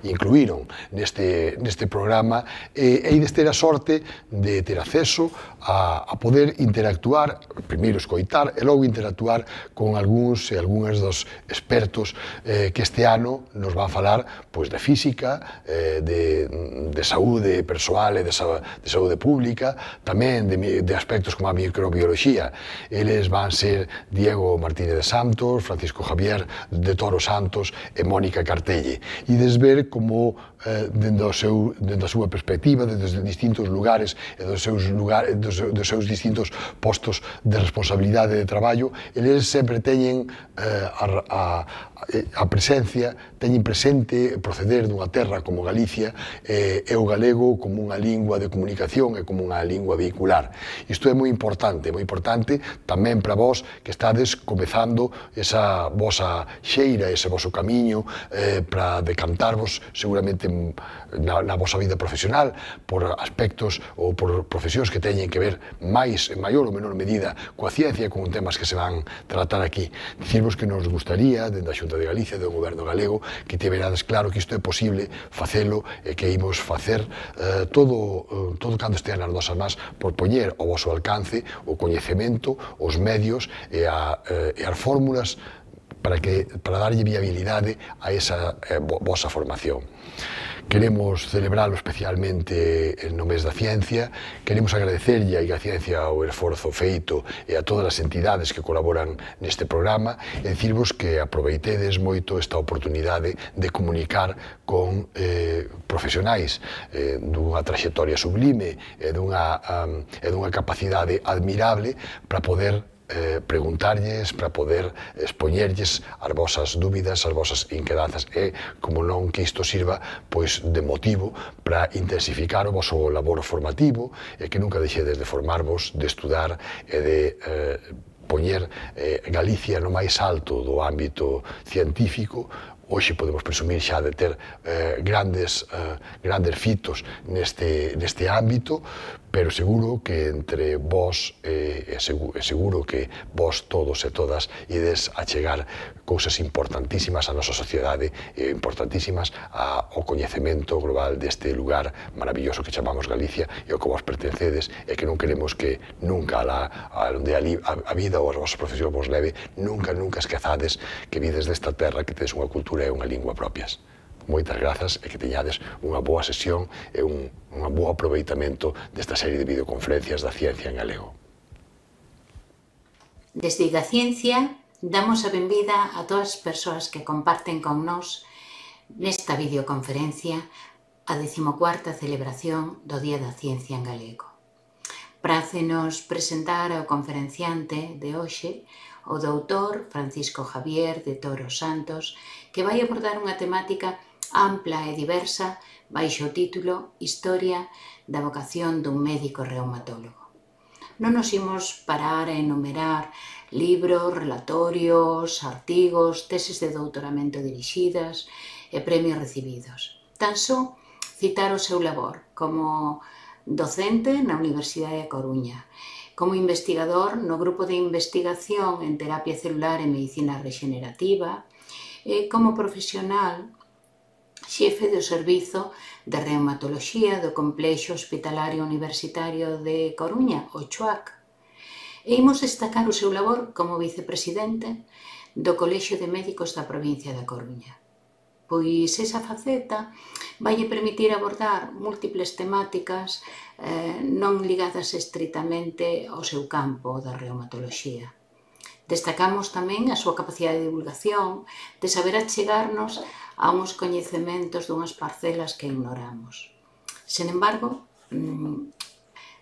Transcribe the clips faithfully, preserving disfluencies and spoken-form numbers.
incluíron neste, neste programa, e ides ter a sorte de ter acceso a, a poder interactuar, primeiro escoitar e logo interactuar con algúns e algúnas dos expertos eh, que este ano nos van falar pois, de física, eh, de, de saúde persoal e de, de saúde pública, tamén de, de aspectos como a microbiología. Eles van ser Diego Martínez de Santos, Francisco Javier de Toro Santos e Mónica Cartelle. E des ver como, eh, dende, o seu, dende a súa perspectiva, desde distintos lugares e dos seus, lugares, dos, dos seus distintos postos de responsabilidade de traballo, eles sempre teñen eh, a, a, a presencia, teñen presente proceder dunha terra como Galicia eh, e o galego como unha lingua de comunicación e como unha lingua vehicular. Isto é moi importante, moi importante tamén para vós que estades comezando esa vosa xeira, ese voso camiño eh, para decantarvos seguramente na, na vosa vida profesional por aspectos ou por profesións que teñen que ver máis, en maior ou menor medida, coa ciencia e con temas que se van tratar aquí. Dicirvos que nos gustaría, dende a Xunta de Galicia, do Goberno galego, que te verades claro que isto é posible facelo e que imos facer eh, todo, eh, todo cando estea nas nosas más por poñer ao voso alcance o coñecemento, os medios e, a, eh, e as fórmulas para, que, para darlle viabilidade a esa eh, vosa formación. Queremos celebralo especialmente no mes da ciencia, queremos agradecerlle a Ciencia o esforzo feito e a todas as entidades que colaboran neste programa e dicirvos que aproveitedes moito esta oportunidade de comunicar con eh, profesionais eh, dunha traxectoria sublime e dunha, um, e dunha capacidade admirable para poder Eh, preguntarlles, para poder expoñerlles as vosas dúbidas, as vosas inquedanzas e, como non, que isto sirva pois, de motivo para intensificar o voso labor formativo e que nunca deixedes de formarvos, de estudar e de eh, poñer eh, Galicia no máis alto do ámbito científico. Hoxe podemos presumir xa de ter eh, grandes, eh, grandes fitos neste, neste ámbito, pero seguro que entre vós, eh, e seguro, seguro que vós todos e todas ides a chegar cousas importantísimas á nosa sociedade e importantísimas ao coñecemento global deste lugar maravilloso que chamamos Galicia e ao que vos pertencedes e que non queremos que nunca a, a, onde a, a vida ou a vosa profesión vos leve, nunca, nunca esquezades que vides desta terra, que tedes unha cultura e unha lingua propias. Moitas grazas e que teñades unha boa sesión e un, un bo aproveitamento desta serie de videoconferencias da ciencia en galego. Desde a ciencia damos a benvida a todas as persoas que comparten con nós nesta videoconferencia a decimocuarta celebración do Día da Ciencia en Galego. Prácenos presentar ao conferenciante de hoxe, o doutor Francisco Javier de Toro Santos, que vai abordar unha temática ampla e diversa baixo o título Historia da vocación dun médico reumatólogo. Non nos imos parar a enumerar libros, relatorios, artigos, teses de doutoramento dirixidas e premios recibidos. Tan só citar o seu labor como docente na Universidade da Coruña, como investigador no Grupo de Investigación en Terapia Celular e Medicina Regenerativa, e como profesional xefe do Servizo de Reumatoloxía do Complexo Hospitalario Universitario de Coruña, o CHUAC. E imos destacar o seu labor como vicepresidente do Colexio de Médicos da provincia da Coruña. Pois esa faceta vai permitir abordar múltiples temáticas eh, non ligadas estritamente ao seu campo da reumatoloxía. Destacamos tamén a súa capacidade de divulgación, de saber achegarnos a uns coñecementos dunhas parcelas que ignoramos. Sen embargo,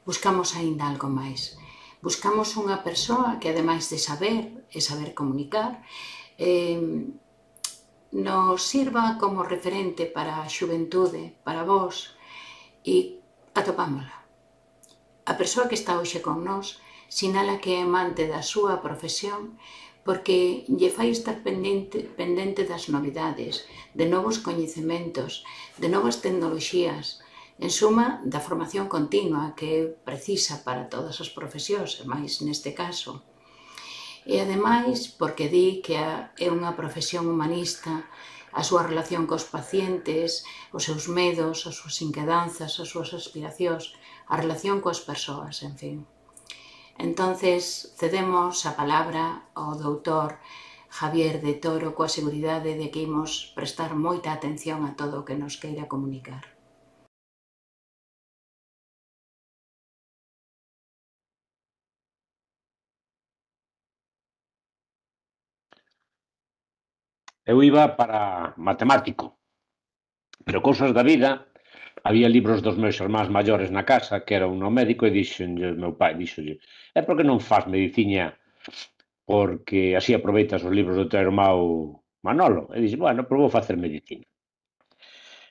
buscamos aínda algo máis. Buscamos unha persoa que, ademais de saber e saber comunicar, eh, nos sirva como referente para a xuventude, para vós, e atopámola. A persoa que está hoxe con nós sinala que é amante da súa profesión porque lle fai estar pendente, pendente das novidades, de novos coñecementos, de novas tecnoloxías, en suma, da formación continua que é precisa para todas as profesións, e máis neste caso. E ademais, porque di que é unha profesión humanista a súa relación cos pacientes, os seus medos, as súas inquedanzas, as súas aspiracións, a relación coas persoas, en fin. Entonces, cedemos a palabra ao doutor Javier de Toro coa seguridade de que imos prestar moita atención a todo o que nos queira comunicar. Eu iba para matemático, pero cousas da vida, había libros dos meus irmáns maiores na casa, que era un no médico, e dixenlle, meu pai, dixenlle, é porque non faz mediciña, porque así aproveitas os libros do teu irmão Manolo? E dixe, bueno, pero vou facer medicina.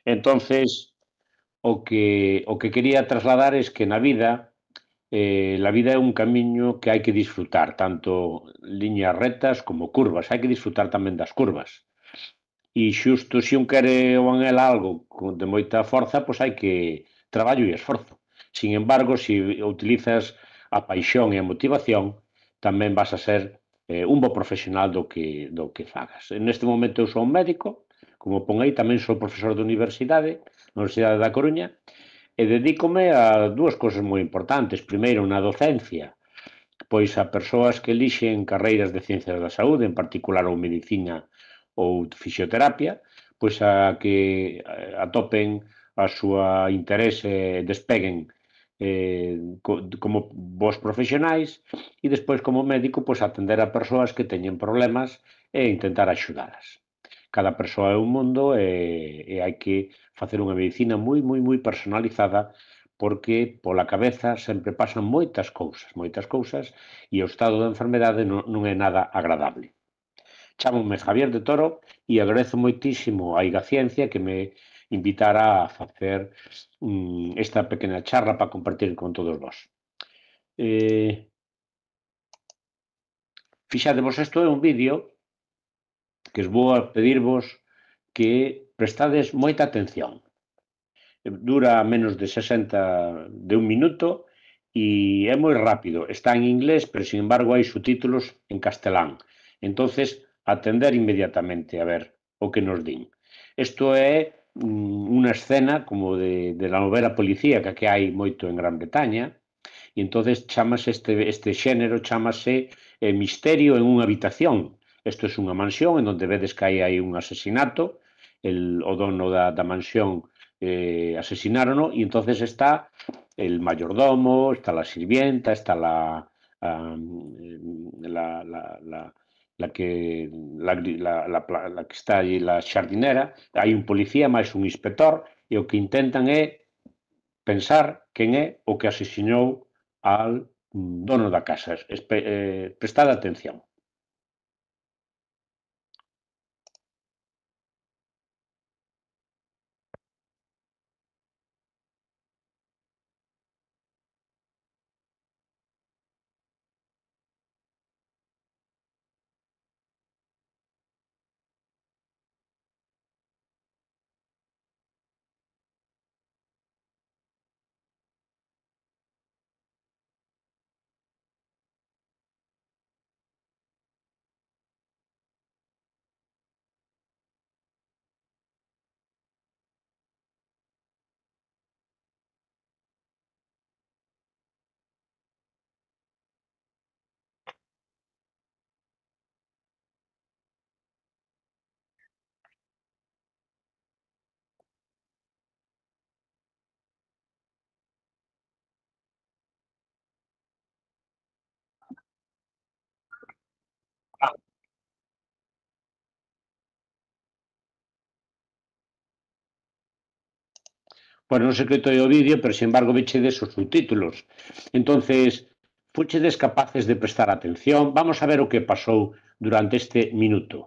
Entonces, o que, o que quería trasladar es que na vida, eh, la vida é un camiño que hai que disfrutar, tanto liñas rectas como curvas, hai que disfrutar tamén das curvas. E xusto se un quere ou anhela algo de moita forza, pois hai que traballo e esforzo. Sin embargo, se utilizas a paixón e a motivación, tamén vas a ser eh, un bo profesional do que, do que fagas. Neste momento eu sou un médico, como pon aí, tamén sou profesor de universidade, na Universidade da Coruña, e dedícome a dúas cousas moi importantes. Primeiro, na docencia, pois a persoas que elixen carreiras de ciencias da saúde, en particular ou medicina ou fisioterapia, pois a que atopen a súa interese e despeguen eh, como vos profesionais e despois como médico pois atender a persoas que teñen problemas e intentar axudalas. Cada persoa é un mundo e, e hai que facer unha medicina moi, moi, moi personalizada porque pola cabeza sempre pasan moitas cousas, moitas cousas, e o estado da enfermedade non, non é nada agradable. Chámome Javier de Toro e agradezo moitísimo a Igaciencia que me invitara a facer um, esta pequena charla para compartir con todos vós. Eh, fixadevos, isto é un vídeo que es vou a pedirvos que prestades moita atención. Dura menos de sesenta de un minuto e é moi rápido. Está en inglés, pero sin embargo hai subtítulos en castelán. Entonces, atender inmediatamente a ver o que nos din. Isto é unha escena como de, de la novela policíaca que hai moito en Gran Bretaña, e entonces chamase este, este xénero, chamase eh, Misterio en unha habitación. Isto é unha mansión en onde vedes que hai, hai un asesinato, el, o dono da, da mansión eh, asesinarono, e entonces está el mayordomo, está la sirvienta, está la, um, la, la, la, la que la, la, la, la que está aí, la xardinera, hai un policía máis un inspector, e o que intentan é pensar quen é o que asesinou al dono da casa. Espe, eh, prestad atención. Pois non se coitoi o vídeo, pero sin embargo vechedes os subtítulos. Entonces, fuchedes capaces de prestar atención. Vamos a ver o que pasou durante este minuto.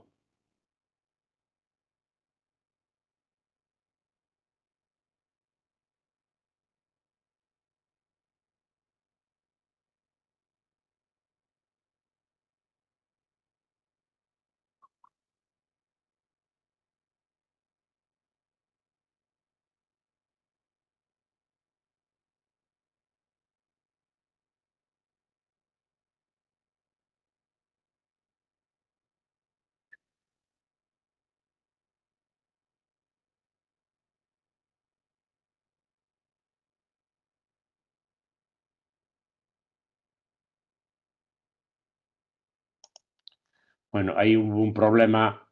Bueno, hai un problema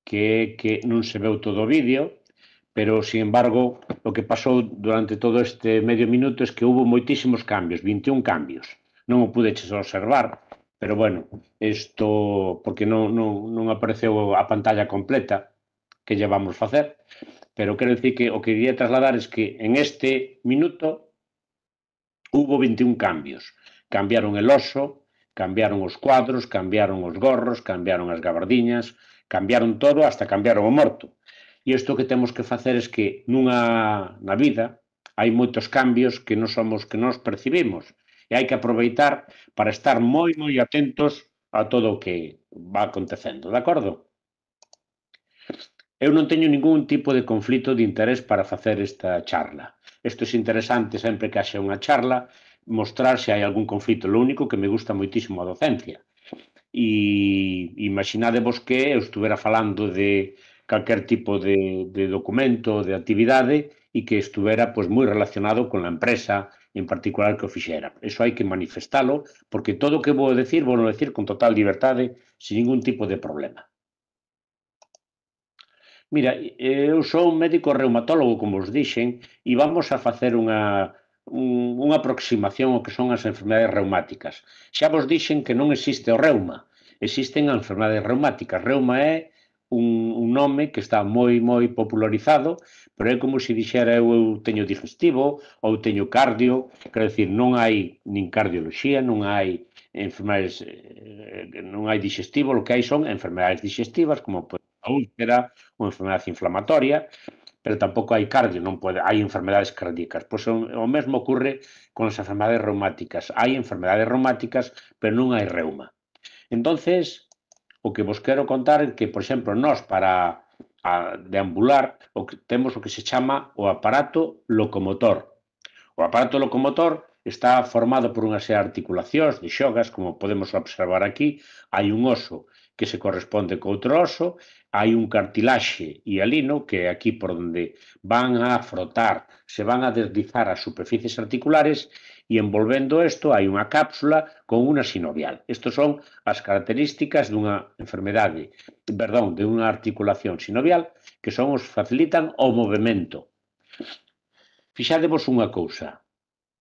que é que non se veu todo o vídeo, pero, sin embargo, o que pasou durante todo este medio minuto é que houve moitísimos cambios, vinte e un cambios. Non o pudeches observar, pero, bueno, isto, porque non, non, non apareceu a pantalla completa que lle vamos facer, pero quero dicir que o que quería trasladar é que en este minuto hubo vinte e un cambios. Cambiaron el oso, cambiaron os cuadros, cambiaron os gorros, cambiaron as gabardiñas, cambiaron todo, hasta cambiaron o morto. E isto que temos que facer é que nunha na vida hai moitos cambios que non somos que nos percibimos e hai que aproveitar para estar moi moi atentos a todo o que va acontecendo, de acordo? Eu non teño ningún tipo de conflito de interés para facer esta charla. Isto é interesante sempre que haxe unha charla mostrar se hai algún conflito. Lo único que me gusta moitísimo a docencia. E imaginadevos que eu estuvera falando de calquer tipo de, de documento, de actividade e que estuvera pois, moi relacionado con a empresa en particular que o fixera. Eso hai que manifestalo porque todo o que vou decir, vou decir con total liberdade, sin ningún tipo de problema. Mira, eu sou un médico reumatólogo, como os dixen, e vamos a facer unha, un, unha aproximación ao que son as enfermedades reumáticas. Xa vos dixen que non existe o reuma, existen as enfermedades reumáticas. Reuma é un, un nome que está moi, moi popularizado, pero é como se dixera eu, eu teño digestivo ou teño cardio, quero dicir, non hai nin cardioloxía, non hai enfermedades, eh, non hai digestivo, o que hai son enfermedades digestivas, como a úlcera, ou enfermedade inflamatoria, pero tampouco hai cardio, non pode, hai enfermedades cardíacas. Pois o, o mesmo ocurre con as enfermedades reumáticas. Hai enfermedades reumáticas, pero non hai reuma. Entonces, o que vos quero contar é que, por exemplo, nós para a deambular o que temos o que se chama o aparato locomotor. O aparato locomotor está formado por unha serie de articulacións, de xogas, como podemos observar aquí. Hai un oso que se corresponde co outro oso, hai un cartilaxe hialino, que é aquí por onde van a frotar, se van a deslizar as superficies articulares, e envolvendo isto hai unha cápsula con unha sinovial. Estas son as características dunha enfermedade, perdón, de unha articulación sinovial, que son os facilitan o movimento. Fixadevos unha cousa,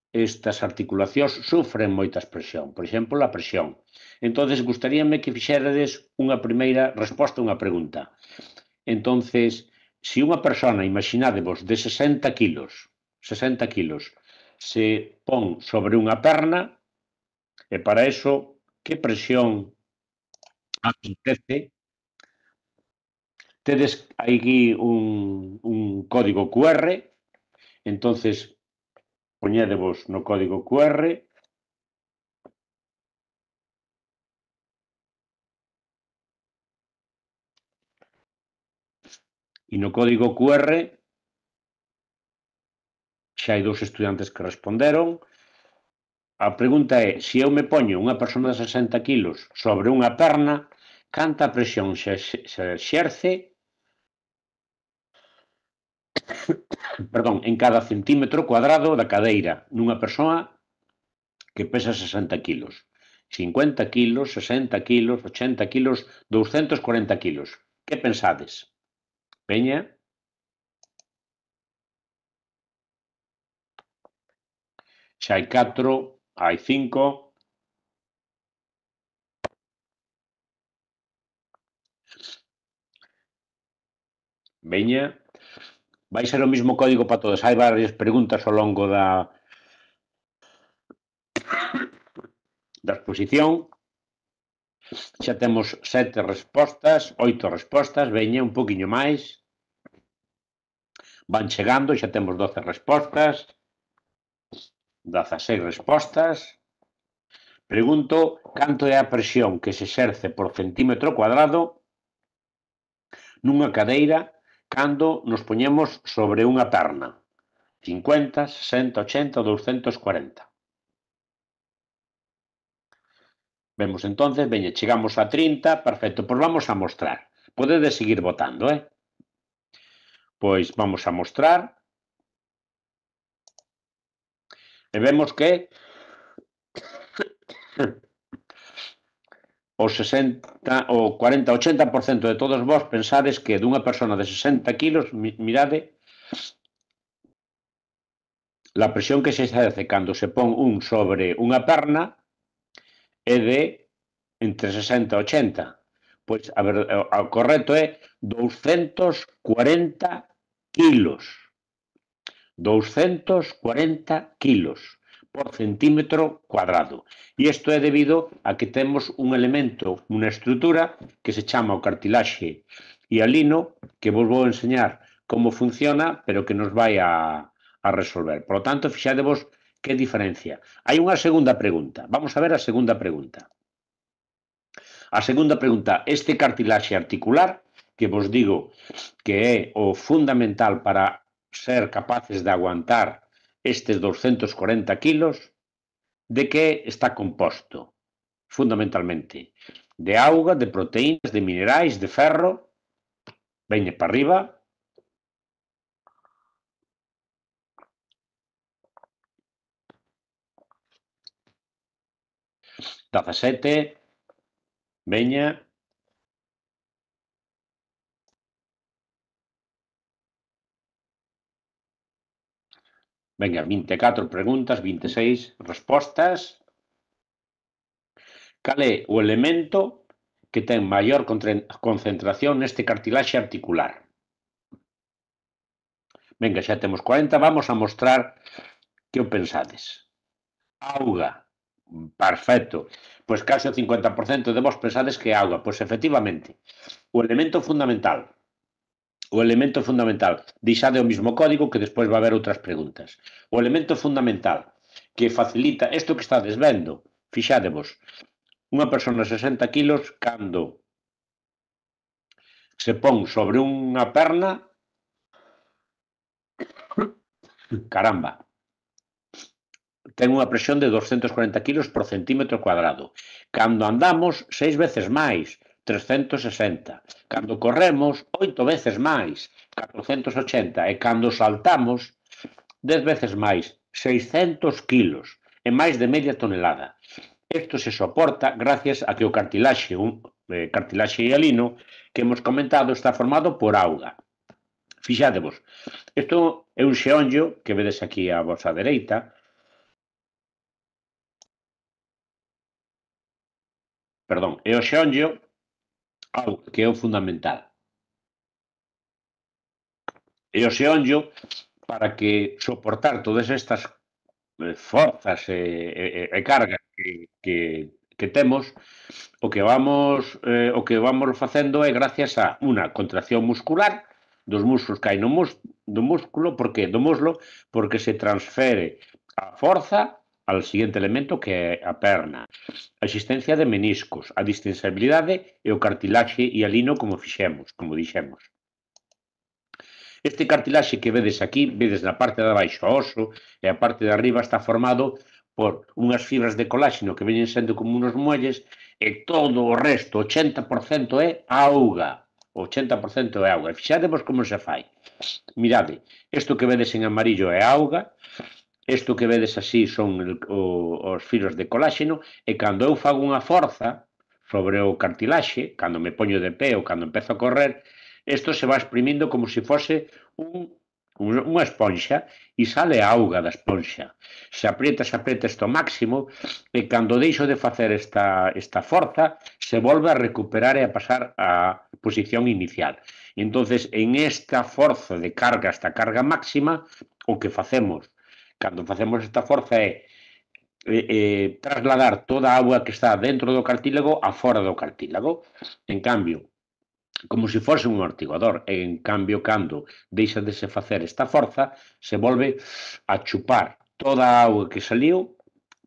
estas articulacións sufren moita presión, por exemplo, a presión. Entonces, gustaríame que fixerades unha primeira resposta a unha pregunta. Entonces, se unha persona, imaginádevos, de sesenta kilos, sesenta kilos, se pon sobre unha perna, e para eso, que presión acontece? Tedes aquí un, un código cu erre, entonces, poñédevos no código cu erre, e no código cu erre xa hai dous estudiantes que responderon. A pregunta é, se eu me poño unha persona de sesenta kilos sobre unha perna, canta presión se, se exerce perdón, en cada centímetro cuadrado da cadeira nunha persoa que pesa sesenta kilos. cincuenta kilos, sesenta kilos, ochenta kilos, douscentos cuarenta kilos. Que pensades? Veña. Xa hai catro, hai cinco. Veña. Vai ser o mesmo código para todos. Hai varias preguntas ao longo da da exposición. Xa temos sete respostas, oito respostas, veña un poquinho máis. Van chegando, xa temos doce respostas, dezaseis respostas. Pregunto canto é a presión que se exerce por centímetro cuadrado nunha cadeira cando nos poñemos sobre unha perna. cincuenta, sesenta, ochenta ou douscentos cuarenta. Vemos entonces, veña, chegamos a trinta, perfecto, pois vamos a mostrar. Podedes seguir votando, eh? Pois vamos a mostrar. E vemos que o sesenta, o cuarenta, ochenta por cento de todos vos pensades que dunha persona de sesenta kilos, mirade, la presión que se exerce cando se pon un sobre unha perna é de entre sesenta e ochenta. Pois a ver, o correcto é doscientos cuarenta kilos. doscientos cuarenta kilos por centímetro cuadrado. E isto é debido a que temos un elemento, unha estrutura que se chama o cartilaxe hialino, que vos vou enseñar como funciona, pero que nos vai a, a resolver. Por lo tanto, fixadevos que diferencia. Hai unha segunda pregunta. Vamos a ver a segunda pregunta. A segunda pregunta, este cartilaxe articular, que vos digo que é o fundamental para ser capaces de aguantar estes doscientos cuarenta kilos, de que está composto? Fundamentalmente, de auga, de proteínas, de minerais, de ferro. Veñe para arriba. dezasete. Veña. Veña, vinte e catro preguntas, vinte e seis respostas. Cal é o elemento que ten maior concentración neste cartilaxe articular? Venga, xa temos cuarenta, vamos a mostrar que o pensades. Auga. Perfecto. Pois case o cincuenta por cento de vos pensades que é auga. Pois efectivamente, o elemento fundamental, o elemento fundamental, deixade o mismo código que despois va haber outras preguntas. O elemento fundamental que facilita isto que estades vendo, fixádevos, unha persona de sesenta kilos cando se pon sobre unha perna, caramba, ten unha presión de doscientos cuarenta kilos por centímetro cuadrado. Cando andamos, seis veces máis, trescientos sesenta. Cando corremos, oito veces máis, catrocentos ochenta. E cando saltamos, dez veces máis, seiscentos kilos, e máis de media tonelada. Isto se soporta gracias a que o cartilaxe, un eh, cartilaxe hialino, que hemos comentado, está formado por auga. Fixádevos, isto é un xeonllo que vedes aquí á vosa dereita. Perdón, é o xeonllo que é o fundamental. E o xeonllo, para que soportar todas estas forzas e, e, e cargas que, que, que temos, o que vamos eh, o que vamos facendo é gracias a unha contracción muscular dos músculos que hai no mus, do músculo, porque do muslo, porque se transfere a forza ao seguinte elemento que é a perna. A existencia de meniscos, a distensibilidade e o cartilaxe hialino como fixemos, como dixemos. Este cartilaxe que vedes aquí, vedes na parte de abaixo o oso e a parte de arriba está formado por unhas fibras de coláxeno que veñen sendo como unos muelles e todo o resto, ochenta por cento é auga. ochenta por cento é auga. E fixadevos como se fai. Mirade, isto que vedes en amarillo é auga, isto que vedes así son el, o, os filos de coláxeno, e cando eu fago unha forza sobre o cartilaxe, cando me poño de pé ou cando empezo a correr, isto se va exprimindo como se fose un, un, unha esponxa e sale a auga da esponxa. Se aprieta, se aprieta isto máximo e cando deixo de facer esta, esta forza, se volve a recuperar e a pasar a posición inicial. E entonces, en esta forza de carga, esta carga máxima, o que facemos cando facemos esta forza é eh, eh, trasladar toda a auga que está dentro do cartílago a fora do cartílago. En cambio, como se fose un amortiguador, en cambio, cando deixa de se facer esta forza, se volve a chupar toda a auga que saliu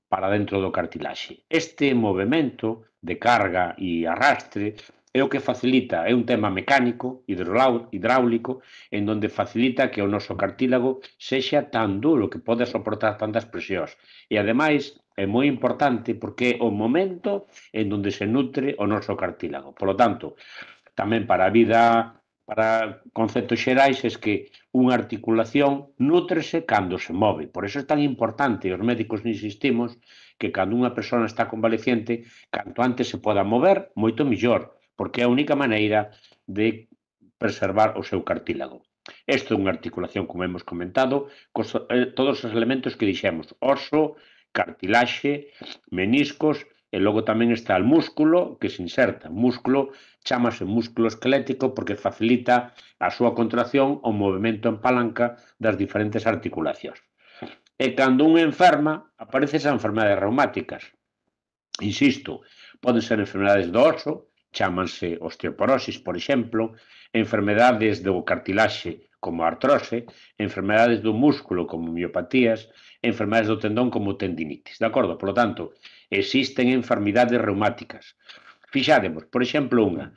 para dentro do cartilaxe. Este movimento de carga e arrastre é o que facilita, é un tema mecánico, hidráulico, en donde facilita que o noso cartílago sexa tan duro que pode soportar tantas presións. E, ademais, é moi importante porque é o momento en donde se nutre o noso cartílago. Por lo tanto, tamén para a vida, para conceptos xerais, é que unha articulación nútrese cando se move. Por eso é tan importante, os médicos insistimos, que cando unha persona está convaleciente, canto antes se poda mover, moito millor, porque é a única maneira de preservar o seu cartílago. Isto é unha articulación, como hemos comentado, cos, eh, todos os elementos que dixemos, oso, cartilaxe, meniscos, e logo tamén está o músculo que se inserta. O músculo chámase músculo esquelético porque facilita a súa contracción o movimento en palanca das diferentes articulacións. E cando un enferma, aparecen as enfermedades reumáticas. Insisto, poden ser enfermedades do oso, chámanse osteoporosis, por exemplo, enfermedades do cartilaxe, como a artrose, enfermedades do músculo, como miopatías, enfermedades do tendón, como tendinitis, de acordo? Por lo tanto, existen enfermidades reumáticas. Fixádemos, por exemplo, unha,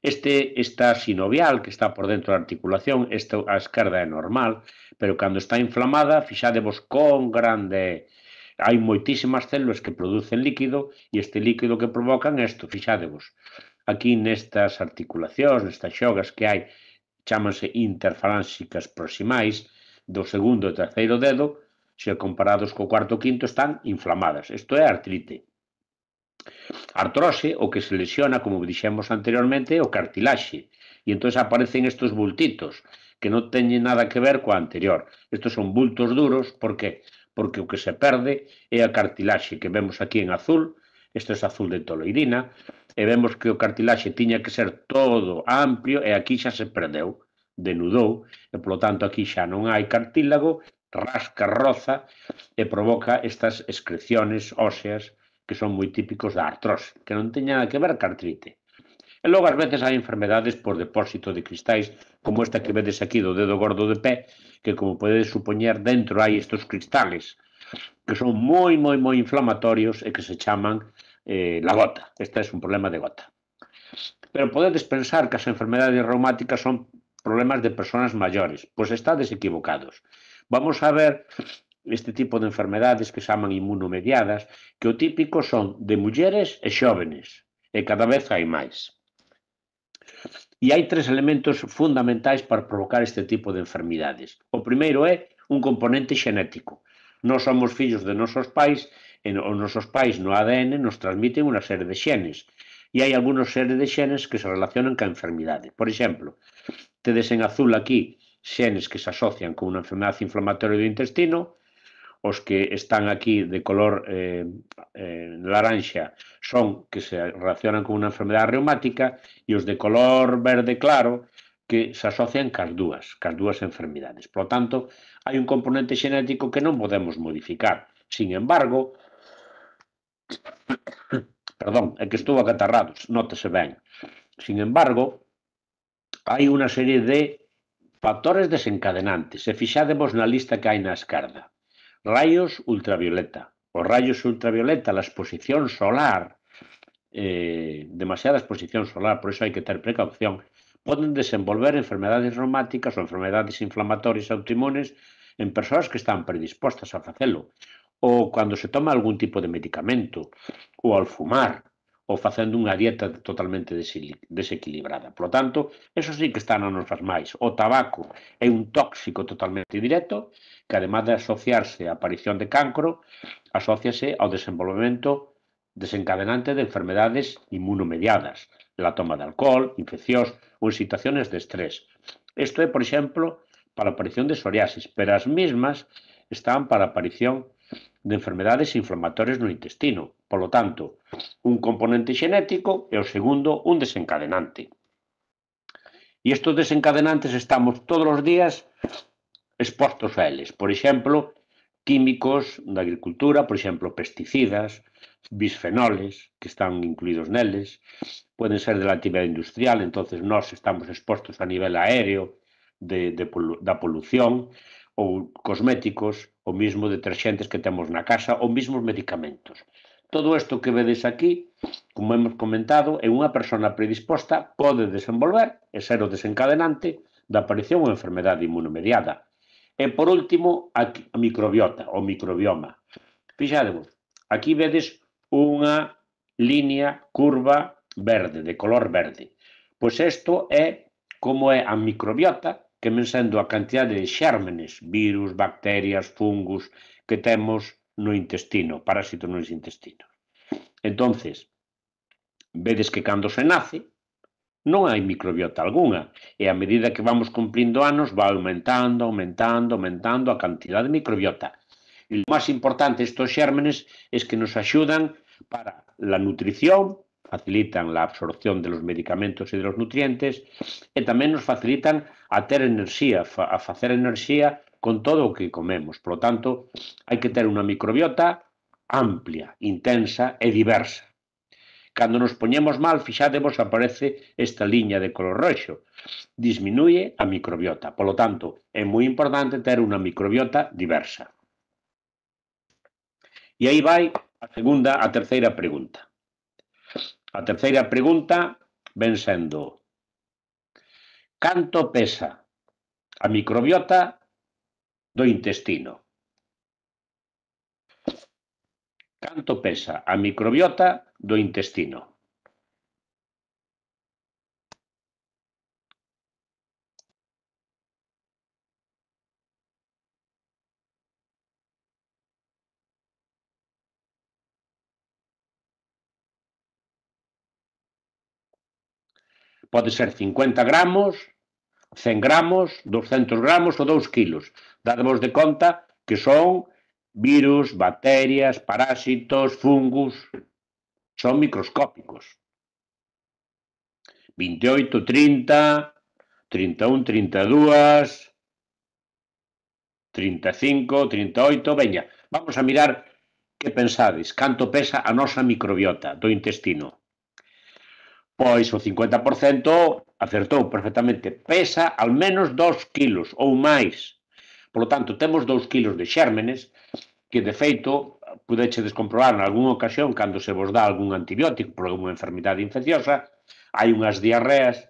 este, esta sinovial que está por dentro da articulación, esta a esquerda é normal, pero cando está inflamada, fixádemos con grande... Hai moitísimas células que producen líquido e este líquido que provocan isto, fixádevos. Aquí nestas articulacións, nestas xogas que hai, chámanse interfalánsicas proximais do segundo e terceiro dedo, se comparados co cuarto e quinto están inflamadas. Isto é artrite. Artrose, o que se lesiona, como dixemos anteriormente, é o cartilaxe. E entón aparecen estes bultitos que non teñen nada que ver coa anterior. Estos son bultos duros, por que? Porque o que se perde é a cartilaxe que vemos aquí en azul, isto é azul de toloidina, e vemos que o cartilaxe tiña que ser todo amplio e aquí xa se perdeu, denudou, e polo tanto aquí xa non hai cartílago, rasca, roza e provoca estas excreciones óseas que son moi típicos da artrose, que non teña nada que ver ca artrite. E logo, ás veces, hai enfermedades por depósito de cristais, como esta que vedes aquí do dedo gordo de pé, que, como podedes supoñer, dentro hai estes cristales, que son moi, moi, moi inflamatorios e que se chaman eh, la gota. Este é un problema de gota. Pero podedes pensar que as enfermedades reumáticas son problemas de persoas maiores. Pois estades equivocados. Vamos a ver este tipo de enfermedades que se chaman inmunomediadas, que o típico son de mulleres e xóvenes, e cada vez hai máis. E hai tres elementos fundamentais para provocar este tipo de enfermidades. O primeiro é un componente xenético. Nós somos fillos de nosos pais e os nosos pais no A D N nos transmiten unha serie de xenes. E hai algúns seres de xenes que se relacionan ca enfermidade. Por exemplo, tedes en azul aquí xenes que se asocian con unha enfermedade inflamatoria do intestino, os que están aquí de color eh, eh, laranxa son que se relacionan con unha enfermedade reumática e os de color verde claro que se asocian cas dúas, cas dúas enfermidades. Por lo tanto, hai un componente xenético que non podemos modificar. Sin embargo, perdón, é que estou acatarrado, nótese ben. Sin embargo, hai unha serie de factores desencadenantes. Se fixádemos na lista que hai na esquerda, rayos ultravioleta. Os rayos ultravioleta, a exposición solar, eh, demasiada exposición solar, por iso hai que ter precaución, poden desenvolver enfermedades reumáticas ou enfermedades inflamatorias autoinmunes en persoas que están predispostas a facelo, ou cando se toma algún tipo de medicamento, ou ao fumar, ou facendo unha dieta totalmente desequilibrada. Por lo tanto, eso sí que está nas nosas máis. O tabaco é un tóxico totalmente directo, que además de asociarse á aparición de cancro, asóciase ao desenvolvemento desencadenante de enfermedades inmunomediadas, la toma de alcohol, infeccións ou en situaciones de estrés. Isto é, por exemplo, para a aparición de psoriasis, pero as mismas están para a aparición de enfermedades inflamatorias no intestino. Por lo tanto, un componente xenético e o segundo, un desencadenante. E estes desencadenantes estamos todos os días expostos a eles. Por exemplo, químicos da agricultura, por exemplo, pesticidas, bisfenoles, que están incluídos neles, poden ser de la actividade industrial, entonces nós estamos expostos a nivel aéreo de, de, da polución, ou cosméticos, ou mesmo deterxentes que temos na casa, ou mesmo medicamentos. Todo isto que vedes aquí, como hemos comentado, en unha persona predisposta pode desenvolver e ser o desencadenante da aparición ou enfermedade inmunomediada. E, por último, a microbiota, ou microbioma. Fixadevos, aquí vedes unha línea curva verde, de color verde. Pois isto é como é a microbiota, que ven sendo a cantidade de xérmenes, virus, bacterias, fungos, que temos no intestino, parásitos nos intestinos. Entonces, vedes que cando se nace, non hai microbiota algunha, e a medida que vamos cumplindo anos, va aumentando, aumentando, aumentando a cantidad de microbiota. E lo máis importante estos xérmenes es que nos axudan para la nutrición, facilitan la absorción de los medicamentos e de los nutrientes, e tamén nos facilitan a ter enerxía, a facer enerxía con todo o que comemos. Por lo tanto, hai que ter unha microbiota amplia, intensa e diversa. Cando nos poñemos mal, fixadevos, aparece esta liña de color roxo. Disminuye a microbiota. Por lo tanto, é moi importante ter unha microbiota diversa. E aí vai a segunda, a terceira pregunta. A terceira pregunta ven sendo: canto pesa a microbiota do intestino? Canto pesa a microbiota do intestino? Pode ser cincuenta gramos, cen gramos, doscientos gramos ou dous kilos. Dadevos de conta que son virus, bacterias, parásitos, fungos, son microscópicos. veintioito, trinta, trinta e un, trinta e dúas, trinta e cinco, trinta e oito, veña, vamos a mirar que pensades, canto pesa a nosa microbiota do intestino. Pois o cincuenta por cento acertou perfectamente, pesa al menos dos kilos ou máis. Por lo tanto, temos dous kilos de xérmenes que, de feito, pudechedes comprobar en algunha ocasión cando se vos dá algún antibiótico por alguna enfermidade infecciosa, hai unhas diarreas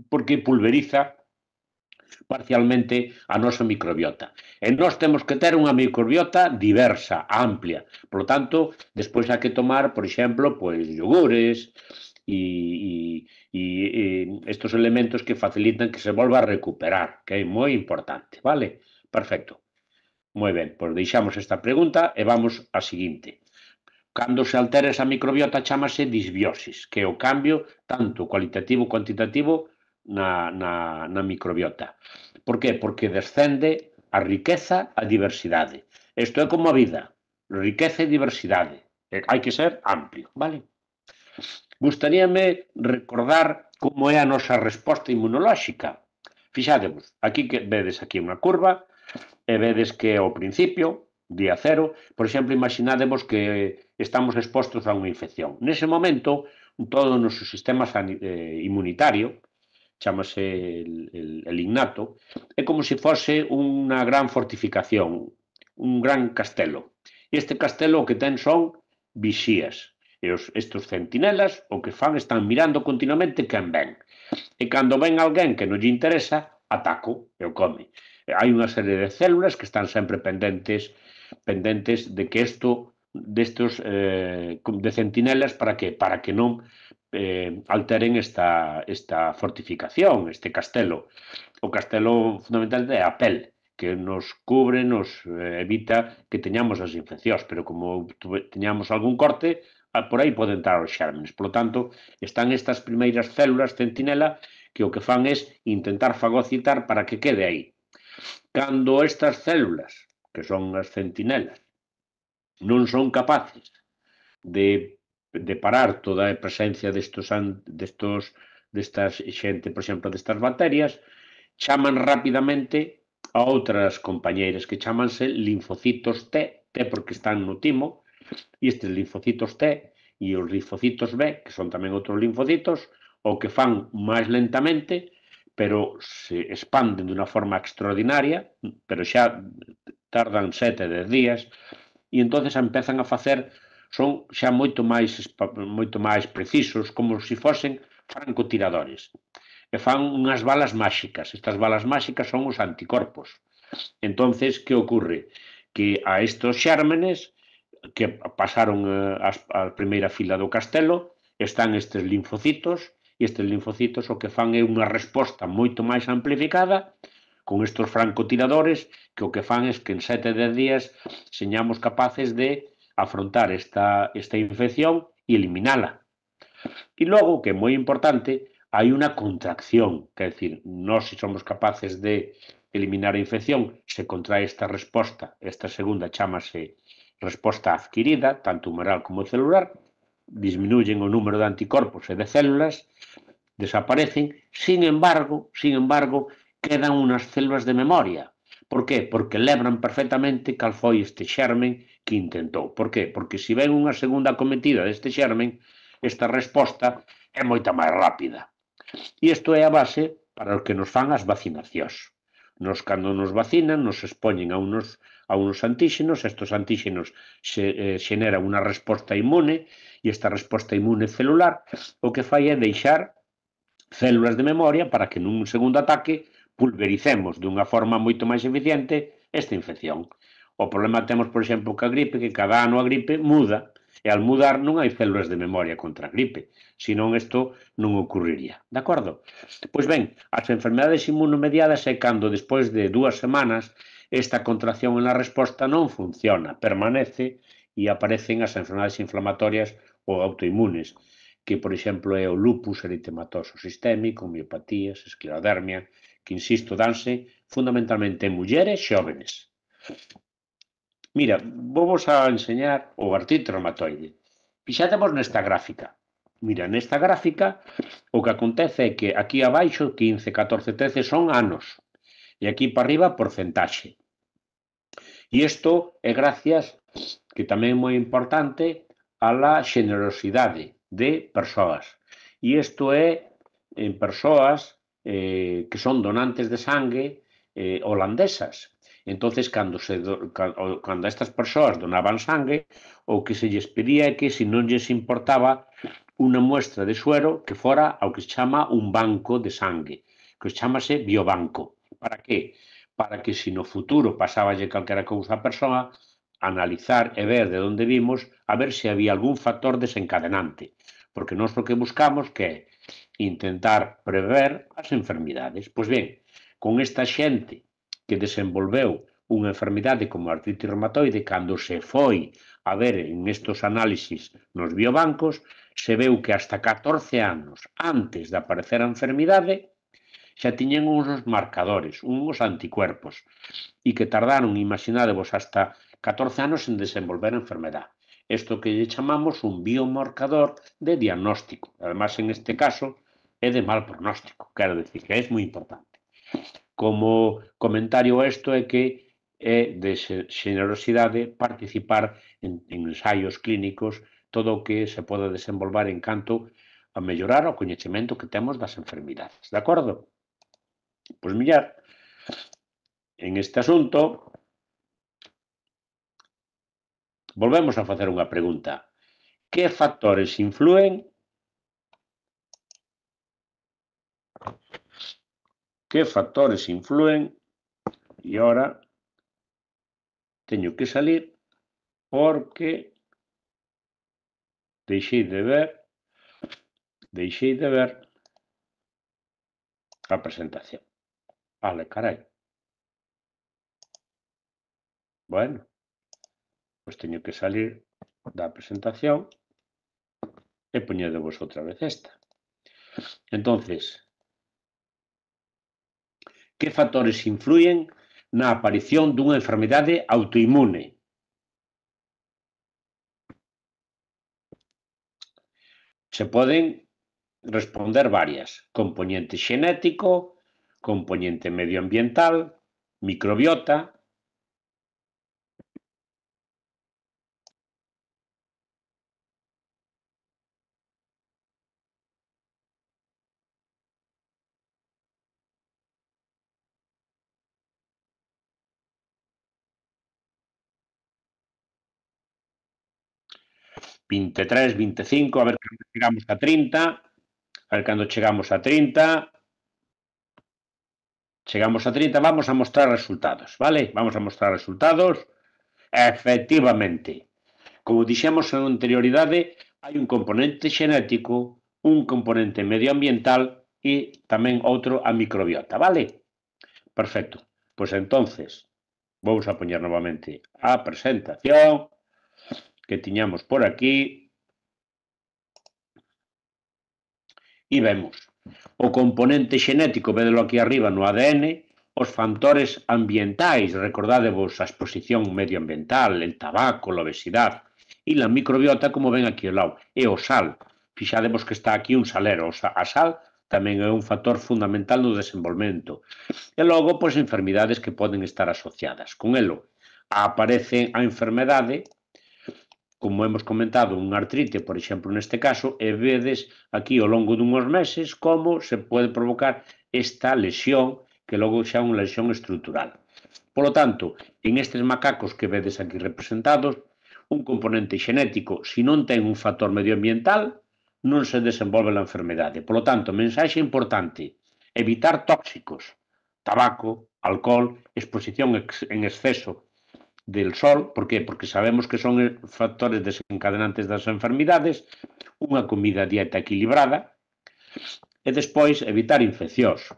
porque pulveriza parcialmente a nosa microbiota. E nós temos que ter unha microbiota diversa, amplia. Por lo tanto, despois hai que tomar, por exemplo, pois yogures e, e, e estos elementos que facilitan que se volva a recuperar, que é moi importante, vale? Perfecto. Moi ben, pois deixamos esta pregunta e vamos á seguinte. Cando se altera esa microbiota chamase disbiosis, que é o cambio tanto cualitativo como cuantitativo na, na, na microbiota. Por que? Porque descende a riqueza, a diversidade. Isto é como a vida, riqueza e diversidade. Hai que ser amplio, vale? Gustaríame recordar como é a nosa resposta inmunolóxica. Fixadevos, aquí que vedes aquí unha curva, e vedes que ao principio, día cero, por exemplo, imaginademos que estamos expostos a unha infección. Nese momento, todo o noso sistema inmunitario, chamase el, el, el innato, é como se fose unha gran fortificación, un gran castelo. E este castelo o que ten son vixías. E os, estes centinelas o que fan están mirando continuamente quen ven. E cando ven alguén que non lle interesa, ataco e o come. E hai unha serie de células que están sempre pendentes pendentes de que isto destos eh, de centinelas para que para que non eh, alteren esta, esta fortificación, este castelo. O castelo fundamentalmente é a pel, que nos cubre, nos eh, evita que teñamos as infeccións, pero como teñamos algún corte, por aí poden entrar os xérmenes. Por lo tanto, están estas primeiras células centinela que o que fan é intentar fagocitar para que quede aí. Cando estas células, que son as centinelas, non son capaces de, de parar toda a presencia destos, destos, destas xente, por exemplo, destas bacterias, chaman rapidamente a outras compañeiras que chamanse linfocitos T, T porque están no timo, e estes linfocitos T e os linfocitos B, que son tamén outros linfocitos, o que fan máis lentamente, pero se expanden de unha forma extraordinaria, pero xa tardan sete, dez días, e entonces empezan a facer, son xa moito máis, moito máis precisos, como se fosen francotiradores. E fan unhas balas máxicas. Estas balas máxicas son os anticorpos. Entonces, que ocorre? Que a estos xérmenes que pasaron a, a primeira fila do castelo, están estes linfocitos, e estes linfocitos o que fan é unha resposta moito máis amplificada con estos francotiradores que o que fan é que en sete de dez días señamos capaces de afrontar esta, esta infección e eliminala. E logo, que é moi importante, hai unha contracción, que é dicir, nós se somos capaces de eliminar a infección, se contrae esta resposta, esta segunda chámase resposta adquirida, tanto humoral como celular, disminuyen o número de anticorpos e de células, desaparecen, sin embargo, sin embargo, quedan unhas células de memoria. Por qué? Porque lembran perfectamente cal foi este xermen que intentou. Por qué? Porque se ven unha segunda acometida deste xermen, esta resposta é moita máis rápida. E isto é a base para o que nos fan as vacinacións. Nos, cando nos vacinan, nos expoñen a unos, a unos antíxenos, estos antíxenos xe, eh, xeneran unha resposta inmune, e esta resposta inmune celular o que fai é deixar células de memoria para que nun segundo ataque pulvericemos dunha forma moito máis eficiente esta infección. O problema temos, por exemplo, que a gripe, que cada ano a gripe muda, e al mudar non hai células de memoria contra a gripe, senón isto non ocurriría, de acordo? Pois ben, as enfermedades inmunomediadas é cando despois de dúas semanas esta contracción en la resposta non funciona, permanece e aparecen as enfermedades inflamatorias ou autoinmunes, que, por exemplo, é o lupus eritematoso sistémico, miopatías, esclerodermia, que, insisto, danse fundamentalmente en mulleres xóvenes. Mira, vamos a enseñar o artrite reumatoide. Fixátemos nesta gráfica. Mira, nesta gráfica o que acontece é que aquí abaixo, quince, catorce, trece, son anos. E aquí para arriba, porcentaxe. E isto é gracias, que tamén é moi importante, a la generosidade de persoas. E isto é en persoas eh, que son donantes de sangue eh, holandesas. Entonces, cando, se, cando, cando estas persoas donaban sangue, o que se lles pedía é que se non lles importaba unha muestra de suero que fora ao que se chama un banco de sangue, que se chamase biobanco. Para que? Para que se no futuro pasáballe calquera cousa a persoa, analizar e ver de onde vimos, a ver se había algún factor desencadenante. Porque nós o que buscamos que é intentar prever as enfermidades. Pois ben, con esta xente que desenvolveu unha enfermidade como a artrite reumatoide, cando se foi a ver en estos análisis nos biobancos, se veu que hasta catorce anos antes de aparecer a enfermidade, xa tiñen uns marcadores, uns anticuerpos, e que tardaron, imaginadevos, hasta catorce anos en desenvolver a enfermedade. Isto que lle chamamos un biomarcador de diagnóstico. Además, en este caso, é de mal pronóstico. Quero dicir que é moi importante. Como comentario a isto é que é de generosidade participar en, en ensaios clínicos, todo o que se pode desenvolver en canto a mellorar o coñecemento que temos das enfermidades. De acordo? Pois millar, en este asunto, volvemos a facer unha pregunta. Que factores influen que factores influen e ahora teño que salir porque deixei de ver deixei de ver a presentación. Vale, carai. Bueno, pois teño que salir da presentación e poñedevos outra vez esta. Entonces, que factores influyen na aparición dunha enfermidade autoinmune? Se poden responder varias. Componente xenético, componente medioambiental, microbiota. vinte e tres, vinte e cinco, a ver cando chegamos a trinta, a ver cando chegamos a trinta, chegamos a trinta, vamos a mostrar resultados, vale? Vamos a mostrar resultados. Efectivamente, como dixemos en anterioridade, hai un componente xenético, un componente medioambiental e tamén outro a microbiota, vale? Perfecto. Pois entonces, vamos a poñer novamente a presentación que tiñamos por aquí e vemos o componente xenético, vedelo aquí arriba no A D N, os factores ambientais, recordádevos a exposición medioambiental, el tabaco, a obesidade, e la microbiota, como ven aquí ao lado, e o sal. Fixadevos que está aquí un salero, a sal tamén é un factor fundamental no desenvolvemento. E logo, pois, enfermidades que poden estar asociadas. Con elo, aparece a enfermedade, como hemos comentado, unha artrite, por exemplo, neste caso, e vedes aquí ao longo dunhos meses como se pode provocar esta lesión, que logo xa é unha lesión estrutural. Por lo tanto, en estes macacos que vedes aquí representados, un componente xenético, se non ten un factor medioambiental, non se desenvolve a enfermedade. Por lo tanto, mensaxe importante, evitar tóxicos, tabaco, alcohol, exposición en exceso del sol. Por qué? Porque sabemos que son factores desencadenantes das enfermidades, unha comida dieta equilibrada, e despois evitar infeccións.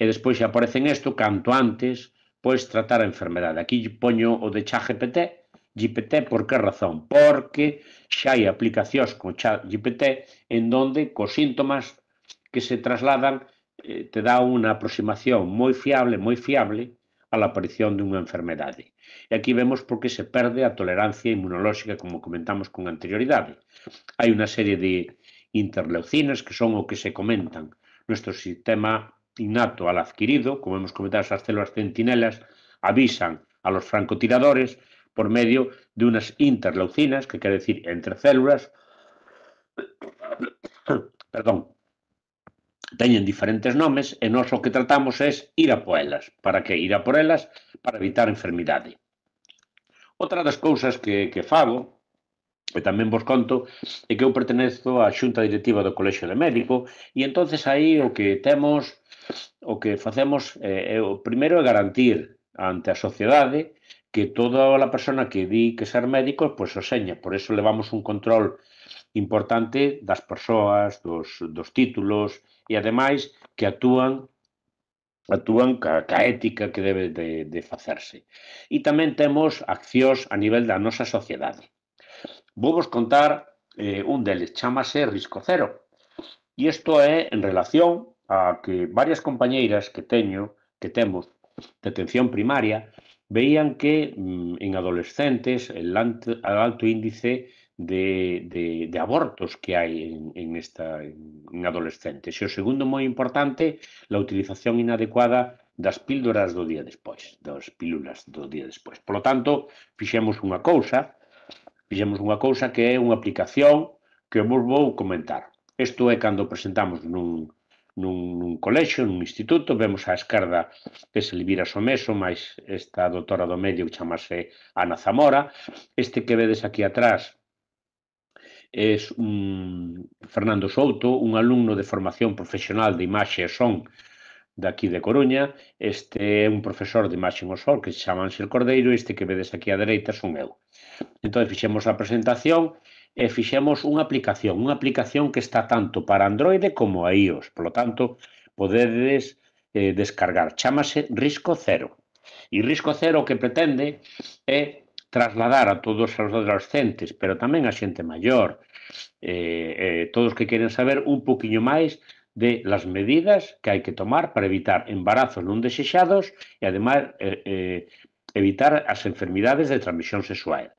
E despois xa aparecen isto, canto antes, pois tratar a enfermedade. Aquí poño o de ChatGPT, G P T, por que razón? Porque xa hai aplicacións con ChatGPT en donde cos síntomas que se trasladan eh, te dá unha aproximación moi fiable, moi fiable a la aparición dunha enfermedade. E aquí vemos por que se perde a tolerancia inmunolóxica, como comentamos con anterioridade. Hai unha serie de interleucinas que son o que se comentan. Nuestro sistema innato al adquirido, como hemos comentado, esas células centinelas avisan a los francotiradores por medio de unas interleucinas, que quere decir entre células, perdón, teñen diferentes nomes, e nós o que tratamos é ir a por elas. Para que? Ir a por elas para evitar enfermidade. Outra das cousas que, que fago, e tamén vos conto, é que eu pertenezo á xunta directiva do Colexio de Médico, e entonces aí o que temos, o que facemos, é, é, o primeiro é garantir ante a sociedade que toda a persona que di que ser médico, pois o seña. Por eso levamos un control importante das persoas, dos, dos títulos, e ademais que actúan actúan ca, ca ética que debe de, de facerse. E tamén temos accións a nivel da nosa sociedade. Vou vos contar eh, un deles, chamase Risco Cero. E isto é en relación a que varias compañeiras que teño, que temos de atención primaria, veían que mm, en adolescentes el alto, el alto índice de, de, de abortos que hai en, en, esta, en adolescentes. E o segundo moi importante, la utilización inadecuada das píldoras do día despois, das pílulas do día despois. Por lo tanto, fixemos unha cousa, fixemos unha cousa que é unha aplicación que vos vou comentar. Isto é cando presentamos nun, nun, nun colexio, nun instituto, vemos á esquerda ese Elvira Someso, máis esta doutora do medio que chamase Ana Zamora. Este que vedes aquí atrás é un Fernando Souto, un alumno de formación profesional de imaxe e son daqui de Coruña. Este é un profesor de imaxe no sol que se chama Ángel Cordeiro, e este que vedes aquí á dereita son eu. Entón, fixemos a presentación e fixemos unha aplicación, unha aplicación que está tanto para Android como a iOS. Por lo tanto, podedes eh, descargar. Chámase Risco Cero. E Risco Cero o que pretende é trasladar a todos os adolescentes, pero tamén a xente maior, eh, eh, todos que queren saber un poquinho máis de las medidas que hai que tomar para evitar embarazos non desexados e, ademais, eh, eh, evitar as enfermidades de transmisión sexual.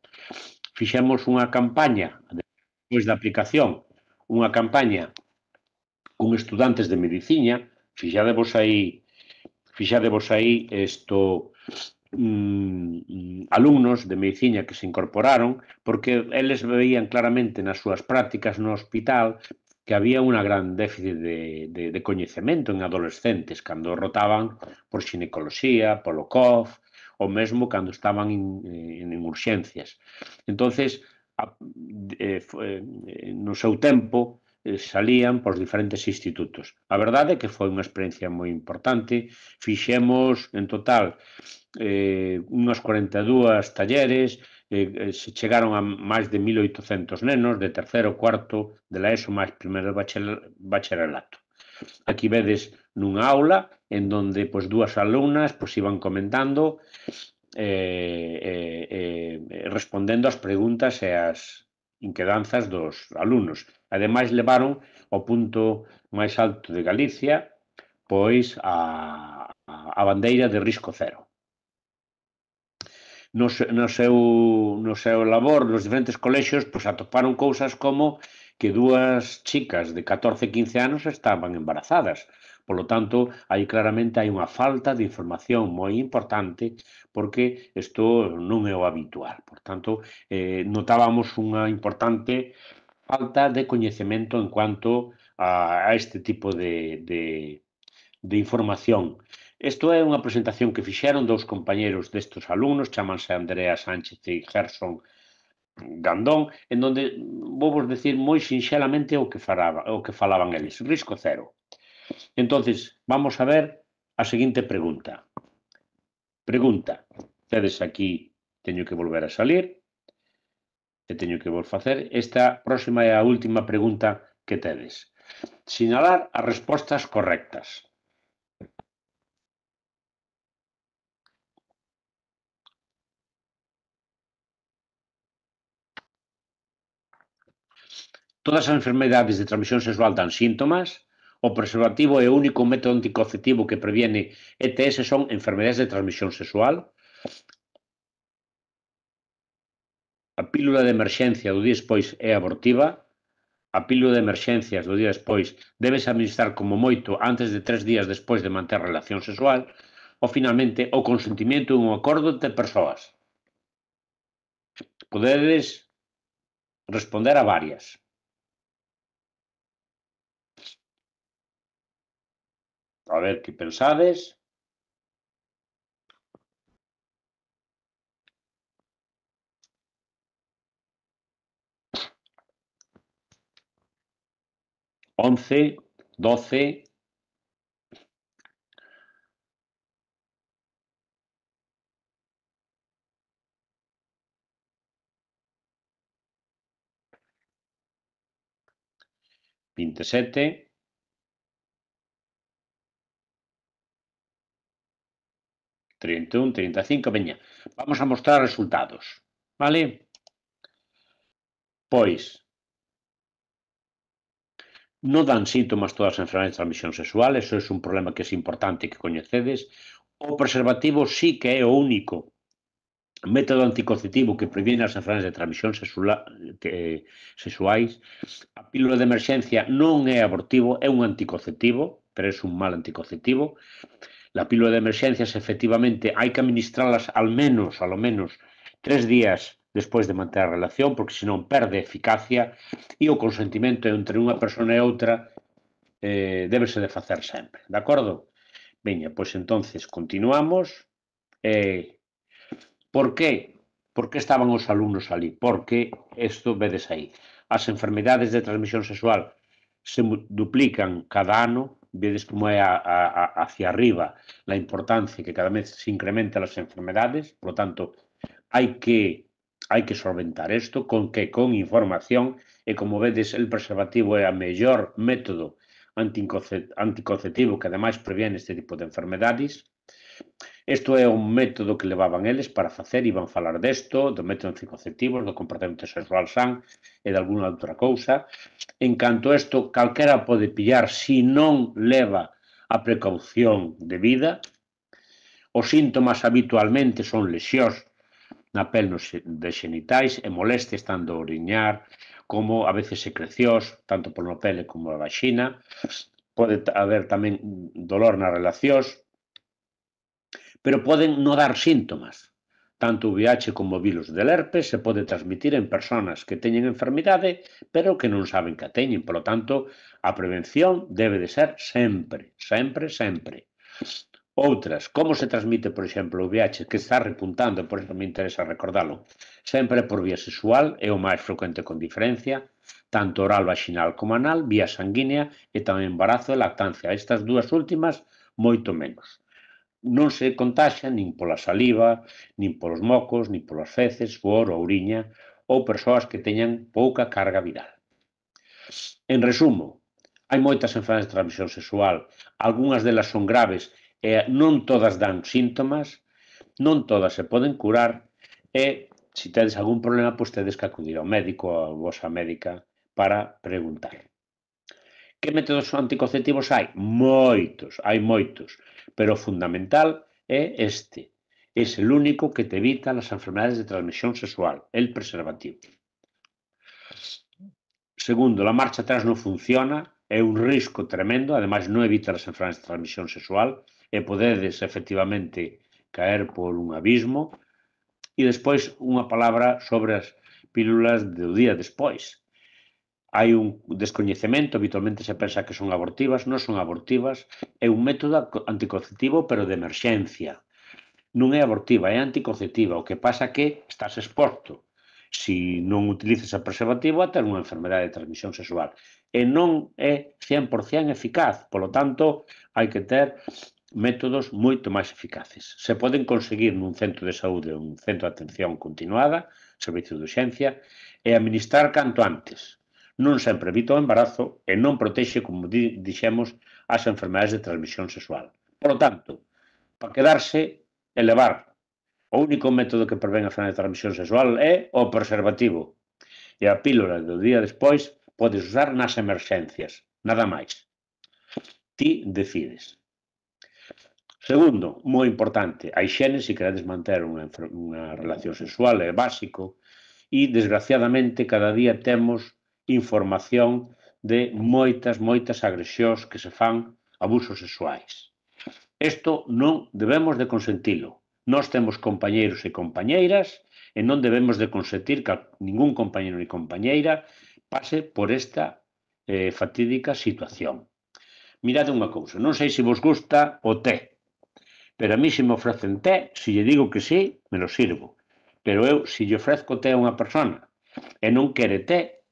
Fixemos unha campaña, despois da aplicación, unha campaña con estudantes de medicina. Fixadevos aí, fixadevos aí isto, mm, alumnos de medicina que se incorporaron, porque eles veían claramente nas súas prácticas no hospital que había unha gran déficit de, de, de coñecemento en adolescentes cando rotaban por xinecoloxía, polo C O F, ou mesmo cando estaban en, en, en urxencias. Entonces, a, eh, eh, no seu tempo, eh, salían por diferentes institutos. A verdade é que foi unha experiencia moi importante. Fixemos, en total, eh, unhas cuarenta e dúas talleres, eh, se chegaron a máis de mil oitocentos nenos de terceiro, cuarto, de la ESO, máis primeiro bacharelato. Aquí vedes nunha aula en donde pois, dúas alumnas pois, iban comentando eh, eh, eh, respondendo as preguntas e as inquedanzas dos alumnos. Ademais, levaron ao punto máis alto de Galicia pois a, a bandeira de risco cero. No, no, seu, no seu labor, nos diferentes colexios, pois atoparon cousas como que dúas chicas de catorce a quince anos estaban embarazadas. Por lo tanto, aí claramente hai unha falta de información moi importante porque isto non é o habitual. Por tanto, eh, notábamos unha importante falta de coñecemento en cuanto a, a este tipo de, de, de información. Isto é unha presentación que fixeron dous compañeros destes alumnos, chamanse Andrea Sánchez e Gerson Gandón, en donde vou vos decir moi sinxelamente o que, faraba, o que falaban eles. Risco cero. Entonces, vamos a ver a seguinte pregunta. Pregunta. Tedes aquí, teño que volver a salir, e teño que vos facer. Esta próxima é a última pregunta que tedes. Sinalar as respostas correctas. Todas as enfermedades de transmisión sexual dan síntomas. O preservativo é o único método anticonceptivo que previene E T S son enfermedades de transmisión sexual. A pílula de emerxencia do día despois é abortiva. A pílula de emerxencias do día despois debes administrar como moito antes de tres días despois de manter relación sexual. Ou, finalmente, o consentimento é un acordo entre persoas. Podedes responder a varias. A ver que pensades. once, doce... vinte e sete... trinta e un, trinta e cinco, veña, vamos a mostrar resultados, vale? Pois, non dan síntomas todas as enfermedades de transmisión sexual, eso é un problema que é importante que coñecedes. O preservativo sí que é o único método anticonceptivo que previene as enfermedades de transmisión sexuais. A pílula de emerxencia non é abortivo, é un anticonceptivo, pero é un mal anticonceptivo. La pílula de emerxencias, efectivamente, hai que administralas al menos, ao menos, tres días despois de manter a relación, porque senón perde eficacia, e o consentimento entre unha persona e outra eh, débese de facer sempre, de acordo? Veña, pois entonces continuamos. Eh, por que? Por que estaban os alumnos ali? Porque, isto vedes aí, as enfermedades de transmisión sexual se duplican cada ano, vedes como é a, a, hacia arriba la importancia que cada vez se incrementan as enfermedades, por lo tanto, hai que, hai que solventar isto, con que? Con información, e como vedes, el preservativo é o mellor método anticonceptivo que ademais previene este tipo de enfermedades. Isto é un método que levaban eles para facer, iban falar desto, do método anticonceptivo, do comportamento sexual san e de alguna outra cousa. En canto a isto, calquera pode pillar se non leva a precaución debida. Os síntomas habitualmente son lesións na pel de xenitais e molestias tanto a oriñar como a veces secrecións, tanto pola pele como a vaxina. Pode haber tamén dolor nas relacións, pero poden non dar síntomas. Tanto o V I H como o virus del herpes se pode transmitir en persoas que teñen enfermidade, pero que non saben que a teñen. Por lo tanto, a prevención debe de ser sempre, sempre, sempre. Outras, como se transmite, por exemplo, o V I H, que está repuntando, por eso me interesa recordalo, sempre por vía sexual, é o máis frecuente con diferencia, tanto oral, vaginal como anal, vía sanguínea e tamén embarazo e lactancia. Estas dúas últimas, moito menos. Non se contaxa nin pola saliva, nin polos mocos, nin polas feces, suor ou oriña, ou persoas que teñan pouca carga viral. En resumo, hai moitas enfermedades de transmisión sexual, algunhas delas son graves e non todas dan síntomas, non todas se poden curar e se tedes algún problema, pois tedes que acudir ao médico ou a vosa médica para preguntar. Que métodos anticonceptivos hai? Moitos, hai moitos, pero o fundamental é este. Es el único que te evita las enfermedades de transmisión sexual, el preservativo. Segundo, la marcha atrás non funciona, é un risco tremendo, ademais non evita as enfermedades de transmisión sexual e podedes efectivamente caer por un abismo. E despois unha palabra sobre as pílulas do día despois. Hai un descoñecemento, habitualmente se pensa que son abortivas, non son abortivas, é un método anticonceptivo pero de emerxencia. Non é abortiva, é anticonceptiva, o que pasa que estás exposto, se non utilizas a preservativo, a ter unha enfermedade de transmisión sexual. E non é cien por cien eficaz, polo tanto, hai que ter métodos moito máis eficaces. Se poden conseguir nun centro de saúde, un centro de atención continuada, servicio de urxencia, e administrar canto antes. Non sempre evita o embarazo e non protexe, como dixemos, as enfermedades de transmisión sexual. Por lo tanto, para quedarse, elevar. O único método que prevén a enfermedade de transmisión sexual é o preservativo. E a pílula do día despois podes usar nas emerxencias, nada máis. Ti decides. Segundo, moi importante, a higiene, se queredes manter unha, unha relación sexual, é básico, e desgraciadamente cada día temos información de moitas, moitas agresións que se fan, abusos sexuais. Isto non debemos de consentilo. Nós temos compañeiros e compañeiras e non debemos de consentir que ningún compañeiro ni compañeira pase por esta eh, fatídica situación. Mirade unha cousa, non sei se vos gusta o té, pero a mí se me ofrecen té, se lle digo que sí, me lo sirvo. Pero eu, se lle ofrezco té a unha persona e non quere té,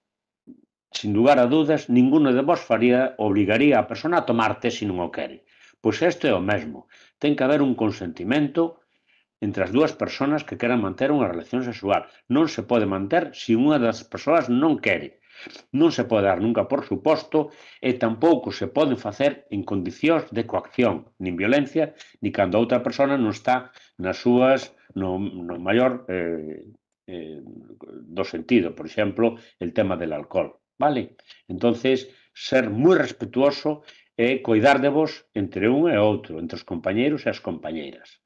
sin lugar a dudas, ninguno de vos faría, obrigaría a persona a tomar té se non o quere. Pois isto é o mesmo. Ten que haber un consentimento entre as dúas persoas que queran manter unha relación sexual. Non se pode manter se unha das persoas non quere. Non se pode dar nunca por suposto e tampouco se pode facer en condicións de coacción, nin violencia, ni cando a outra persona non está nas súas, no, no maior eh, eh, do sentido. Por exemplo, el tema del alcohol. Vale? Entonces, ser moi respetuoso e coidar de vos entre un e outro, entre os compañeiros e as compañeiras.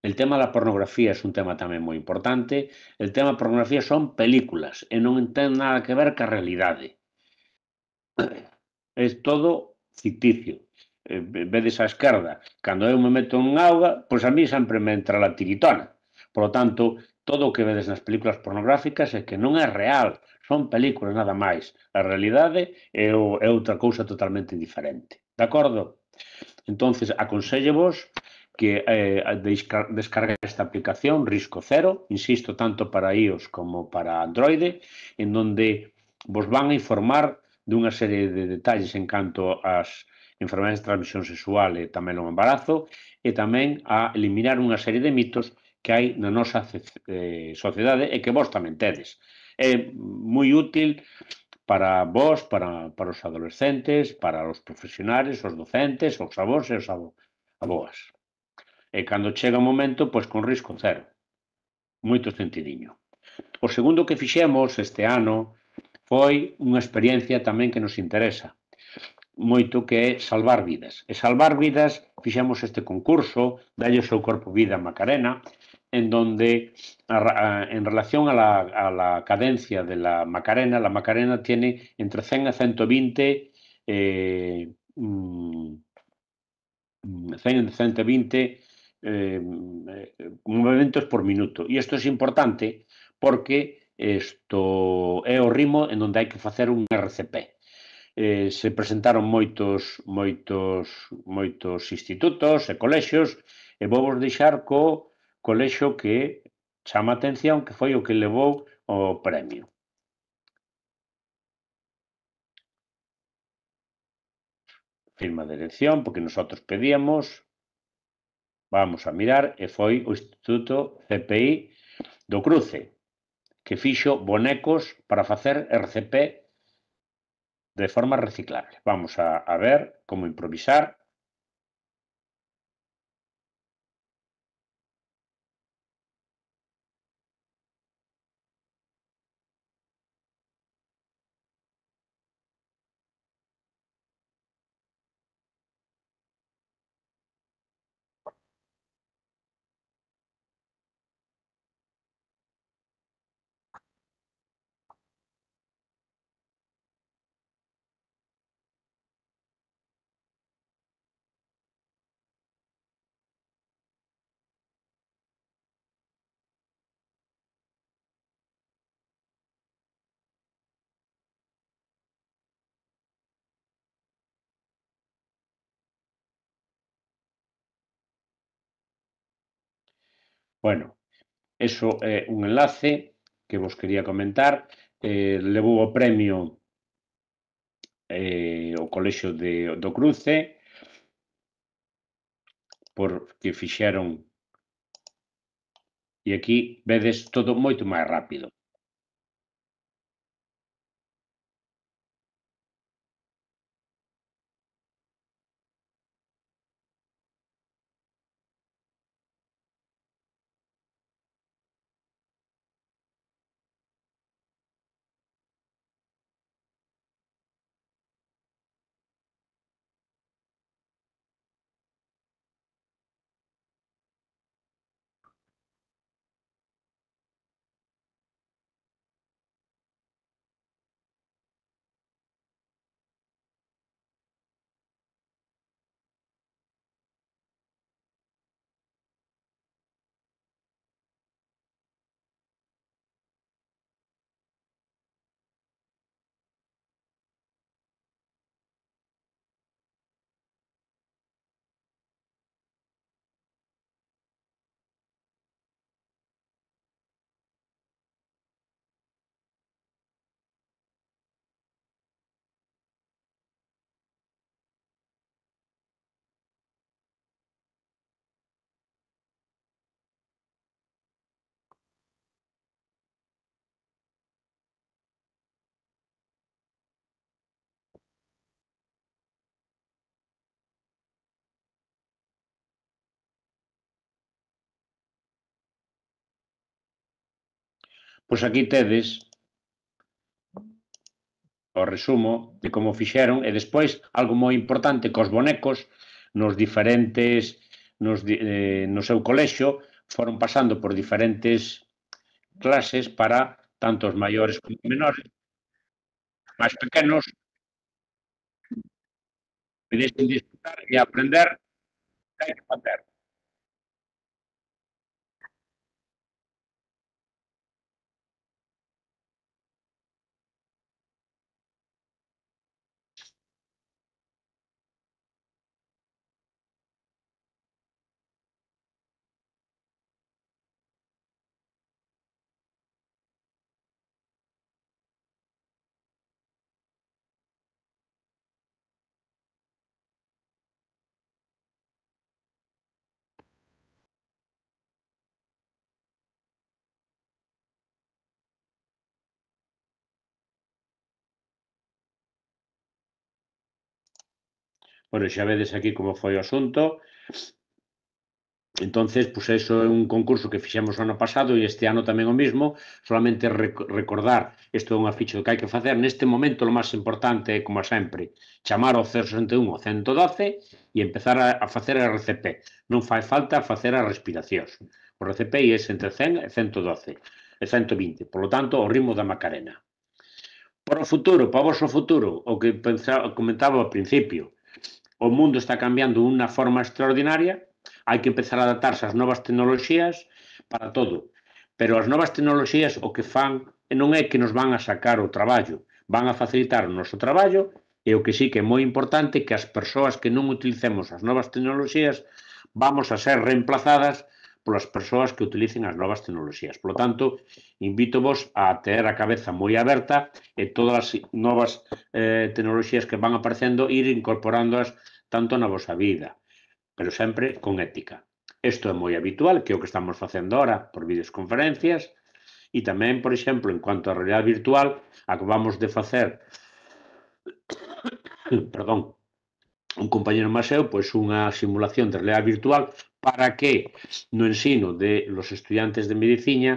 El tema da pornografía é un tema tamén moi importante. El tema da pornografía son películas e non ten nada que ver ca realidade. É todo ficticio. Eh, vedes á esquerda, cando eu me meto en auga, pois a mí sempre me entra la tiritona. Por lo tanto, todo o que vedes nas películas pornográficas é que non é real, son películas nada máis. A realidade é, o, é outra cousa totalmente diferente. De acordo? Entonces, aconsellevos que eh, descargue esta aplicación Risco Cero, insisto, tanto para iOS como para Android, en donde vos van a informar dunha serie de detalles en canto ás enfermedades de transmisión sexual e tamén o embarazo, e tamén a eliminar unha serie de mitos que hai na nosa eh, sociedade e que vos tamén tedes. É moi útil para vos, para, para os adolescentes, para os profesionales, os docentes, os avós e os aboas. E cando chega o momento, pois con risco cero. Moito sentidiño. O segundo que fixemos este ano foi unha experiencia tamén que nos interesa moito, que é salvar vidas. E salvar vidas, fixemos este concurso, dalle o seu corpo vida a Macarena, en donde, a, a, en relación a la, a la cadencia de la Macarena, la Macarena tiene entre cen e ciento vinte eh, cen e ciento vinte eh, movimentos por minuto. E isto é importante porque isto é o ritmo en donde hai que facer un R C P. Eh, se presentaron moitos moitos moitos institutos e colexios e vou vos deixar co colexio que chama a atención, que foi o que levou o premio. Firma de elección, porque nosotros pedíamos, vamos a mirar, e foi o Instituto C P I do Cruce. que fixo bonecos para facer R C P de forma reciclable. Vamos a, a ver como improvisar. Bueno, eso é un enlace que vos quería comentar. Eh, levou o premio eh, o Colexio de, do Cruce porque fixeron, e aquí vedes todo moito máis rápido. Pois aquí tedes o resumo de como fixeron e despois algo moi importante cos bonecos nos diferentes nos, eh, no seu colexio foron pasando por diferentes clases para tanto os maiores como os menores, máis pequenos, pudesen disfrutar e aprender que hai que facer. Bueno, xa vedes aquí como foi o asunto. Entonces, pues eso é un concurso que fixemos o ano pasado e este ano tamén o mismo, solamente rec recordar, isto é unha ficha do que hai que facer, neste momento o máis importante é, como sempre, chamar ao cero sesenta e un ou ciento doce e empezar a, a facer a R C P. Non fai falta facer as respiracións. O R C P é entre cen e ciento doce, e ciento vinte, por lo tanto, o ritmo da Macarena. Para o futuro, para o vosso futuro, o que pensaba, comentaba ao principio, o mundo está cambiando de unha forma extraordinaria, hai que empezar a adaptarse ás novas tecnoloxías para todo. Pero as novas tecnoloxías o que fan non é que nos van a sacar o traballo, van a facilitar o noso traballo e o que sí que é moi importante que as persoas que non utilicemos as novas tecnoloxías vamos a ser reemplazadas polas persoas que utilicen as novas tecnoloxías. Por lo tanto, invítovos a ter a cabeza moi aberta e todas as novas eh, tecnoloxías que van aparecendo ir incorporándoas tanto na vosa vida, pero sempre con ética. Isto é moi habitual, que é o que estamos facendo ahora por videoconferencias, E tamén, por exemplo, en cuanto a realidade virtual, acabamos de facer perdón, un compañero Maseu, pois unha simulación de realidade virtual para que no ensino de los estudiantes de medicina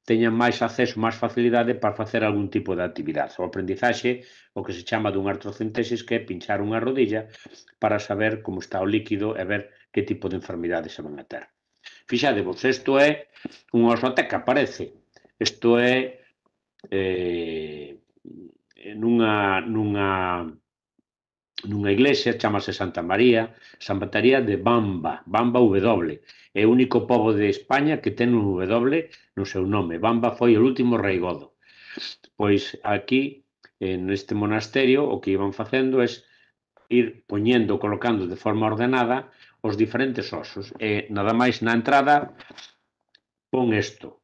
teñan máis acceso, máis facilidade para facer algún tipo de actividade. O aprendizaxe, o que se chama dunha artrocentesis, que é pinchar unha rodilla para saber como está o líquido e ver que tipo de enfermidades se van a ter. Fixadevos, isto é unha osoteca, parece. Isto é eh, nunha, nunha, nunha iglesia, chamase Santa María, Santa María de Bamba, Bamba W. É o único pobo de España que ten un W no seu nome. Bamba foi o último rei godo. Pois aquí, neste monasterio, o que iban facendo é ir poñendo, colocando de forma ordenada os diferentes osos. E nada máis na entrada pon isto.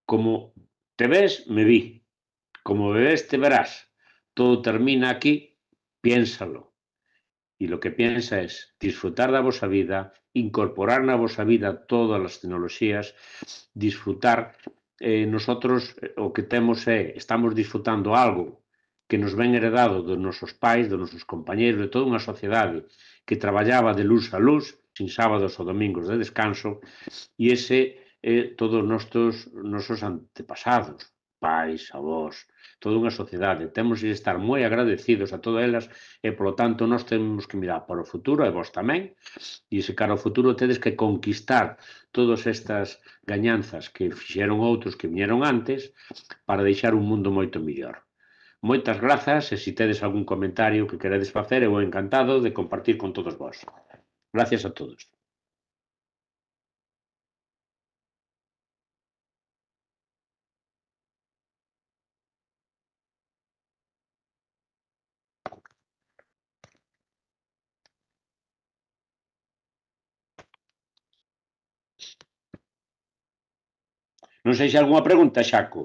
Como te ves, me vi. Como me ves, te verás. Todo termina aquí, piénsalo. Y lo que piensa es disfrutar da vosa vida, incorporar na vosa vida todas as tecnoloxías, disfrutar. Eh, nosotros o que temos é, estamos disfrutando algo que nos ven heredado dos nosos pais, dos nosos compañeros, de toda unha sociedade que traballaba de luz a luz, sin sábados ou domingos de descanso, e ese é todos os nosos, nosos antepasados, pais, avós, toda unha sociedade. Temos que estar moi agradecidos a todas elas e, polo tanto, nós temos que mirar para o futuro, e vos tamén, e se cara ao futuro tedes que conquistar todas estas gañanzas que fixeron outros que viñeron antes para deixar un mundo moito mellor. Moitas grazas, e se tedes algún comentario que queredes facer, eu encantado de compartir con todos vós. Gracias a todos. Non sei se hai algunha pregunta, Xaco.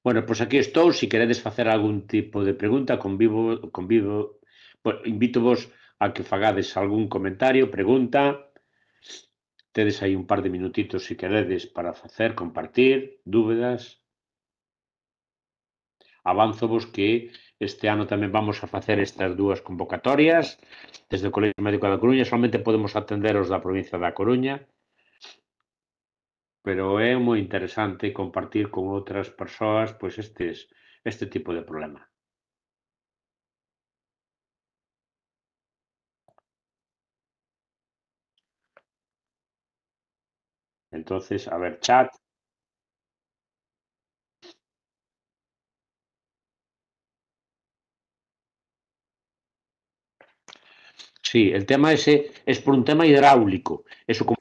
Bueno, pois aquí estou, se queredes facer algún tipo de pregunta, convivo, convivo, bueno, invítovos a que fagades algún comentario, pregunta, tedes aí un par de minutitos se queredes para facer, compartir, dúbidas. Avánzovos que este ano tamén vamos a facer estas dúas convocatorias desde o Colexio Médico da Coruña, solamente podemos atender os da provincia da Coruña, pero é moi interesante compartir con outras persoas pois estes, este tipo de problema. Entonces, a ver, chat. Sí, el tema ese es por un tema hidráulico. Eso como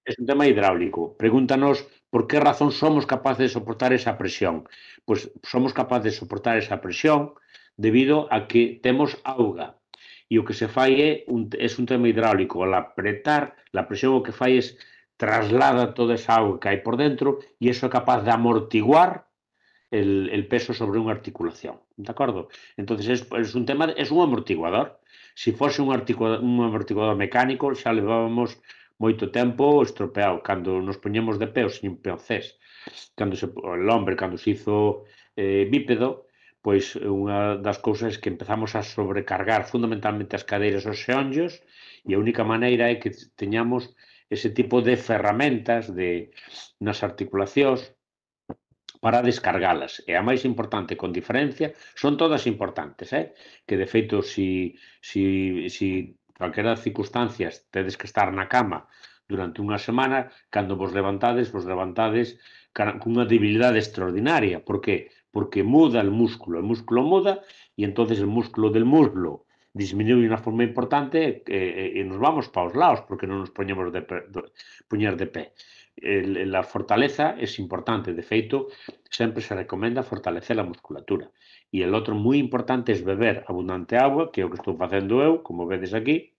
es un tema hidráulico. Pregúntanos por qué razón somos capaces de soportar esa presión. Pues somos capaces de soportar esa presión debido a que temos auga. E o que se fai é un, es un tema hidráulico. Al apretar, la presión o que fai es traslada toda esa auga que hai por dentro e iso é capaz de amortiguar el, el peso sobre unha articulación. De acordo? Entonces es, es un tema, es un amortiguador. Se si fose un, un amortiguador mecánico xa levábamos moito tempo estropeado. Cando nos poñemos de pé, o señor Peoncés, cando se, el hombre, cando se hizo eh, bípedo, pois unha das cousas que empezamos a sobrecargar fundamentalmente as cadeiras os xeonllos e a única maneira é que teñamos ese tipo de ferramentas de, nas articulacións para descargalas. E a máis importante, con diferencia, son todas importantes, eh? Que de feito, si, si, si calquera das circunstancias tedes que estar na cama durante unha semana, cando vos levantades, vos levantades cunha debilidade extraordinaria. Por que? Porque muda el músculo, el músculo muda e entonces el músculo del muslo disminuye de unha forma importante e, e nos vamos para os lados porque non nos poñemos de pé, poñer de pé. El, la fortaleza es importante, de feito, sempre se recomenda fortalecer a musculatura. E el outro moi importante é beber abundante agua, que é o que estou facendo eu, como vedes aquí,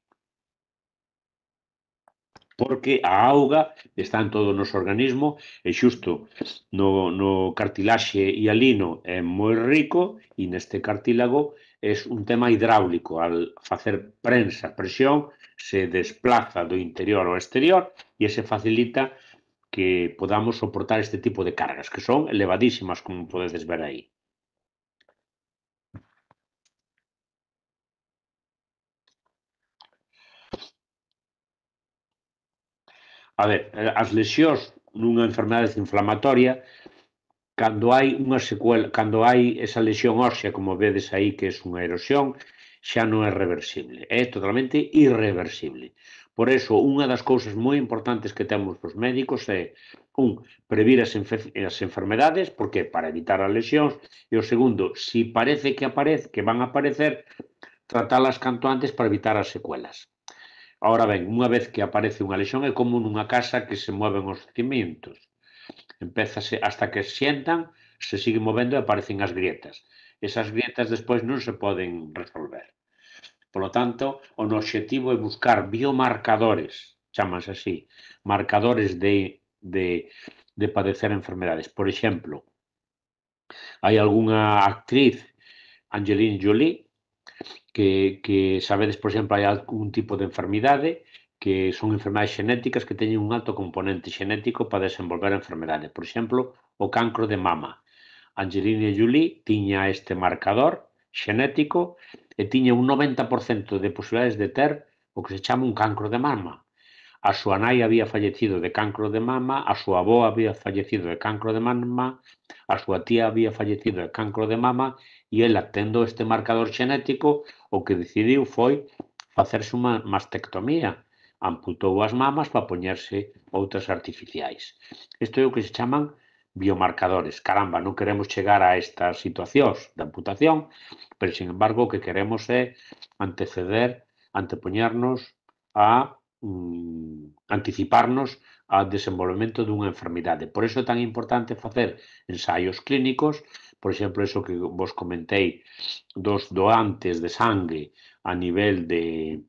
porque a auga está en todo o noso organismo e xusto no, no cartilaxe hialino é moi rico e neste cartílago é un tema hidráulico. Al facer prensa, presión, se desplaza do interior ao exterior e se facilita que podamos soportar este tipo de cargas, que son elevadísimas, como podedes ver aí. A ver, as lesións nunha enfermedade inflamatoria, cando hai unha secuela, cando hai esa lesión ósea, como vedes aí que é unha erosión, xa non é reversible, é totalmente irreversible. Por eso, unha das cousas moi importantes que temos os médicos é, un, previr as, as enfermedades, porque para evitar as lesións, e o segundo, si parece que aparece, que van a aparecer, tratalas canto antes para evitar as secuelas. Ahora ben, unha vez que aparece unha lesión é como nunha casa que se mueven os cimientos. Empézase hasta que se sientan, se siguen movendo e aparecen as grietas. Esas grietas despois non se poden resolver. Por lo tanto, o obxectivo é buscar biomarcadores, chamas así, marcadores de, de, de padecer enfermedades. Por exemplo, hai algunha actriz, Angelina Jolie, que, que sabedes, por exemplo, hai algún tipo de enfermidade que son enfermedades xenéticas que teñen un alto componente xenético para desenvolver a enfermedade. Por exemplo, o cancro de mama. Angelina Jolie tiña este marcador xenético e tiña un noventa por cento de posibilidades de ter o que se chama un cancro de mama. A súa nai había fallecido de cancro de mama, a súa avó había fallecido de cancro de mama, a súa tía había fallecido de cancro de mama e ela, tendo este marcador xenético, o que decidiu foi facerse unha mastectomía. Amputou as mamas para poñerse outras artificiais. Isto é o que se chaman biomarcadores. Caramba, non queremos chegar a estas situacións de amputación, pero, sin embargo, o que queremos é anteceder, antepoñernos a anticiparnos ao desenvolvemento dunha enfermidade. Por iso é tan importante facer ensaios clínicos, por exemplo, eso que vos comentei dos doantes de sangue a nivel de,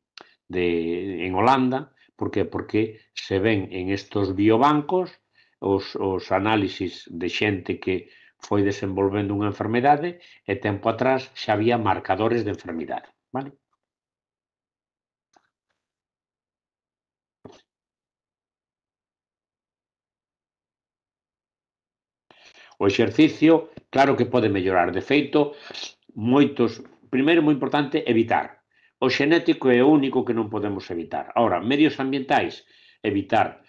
de en Holanda, por que? Porque se ven en estos biobancos os, os análisis de xente que foi desenvolvendo unha enfermedade e tempo atrás xa había marcadores de enfermidade, vale? O exercicio, claro que pode mellorar. De feito, moitos... Primeiro, moi importante, evitar. O xenético é o único que non podemos evitar. Ahora, medios ambientais, evitar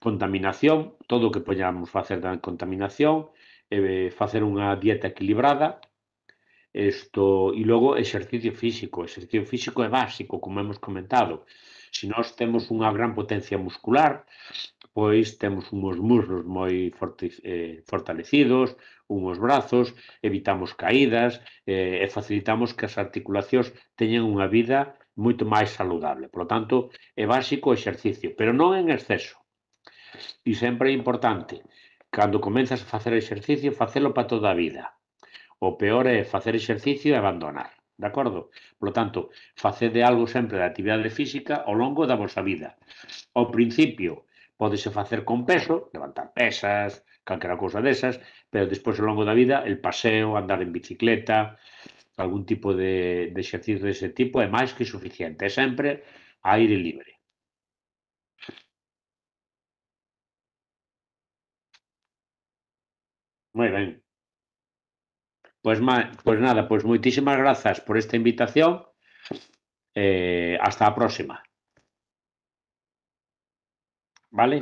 contaminación, todo o que poñamos facer da contaminación, eh, facer unha dieta equilibrada, isto, e logo exercicio físico. O exercicio físico é básico, como hemos comentado. Se nós temos unha gran potencia muscular, pois temos uns muslos moi eh, fortalecidos, uns brazos, evitamos caídas eh, e facilitamos que as articulacións teñan unha vida moito máis saludable. Por lo tanto, é básico o exercicio, pero non en exceso. E sempre é importante, cando comenzas a facer exercicio, facelo para toda a vida. O peor é facer exercicio e abandonar, de acordo? Por lo tanto, facede algo sempre de actividade física ao longo da vosa vida. Ao principio, pódese facer con peso, levantar pesas, calquera cousa desas, pero despois ao longo da vida, el paseo, andar en bicicleta, algún tipo de, de exercicio dese tipo é máis que suficiente, é sempre a aire libre. Moi ben. Pois, ma, pois nada, pois moitísimas grazas por esta invitación. Eh, hasta a próxima. ¿Vale?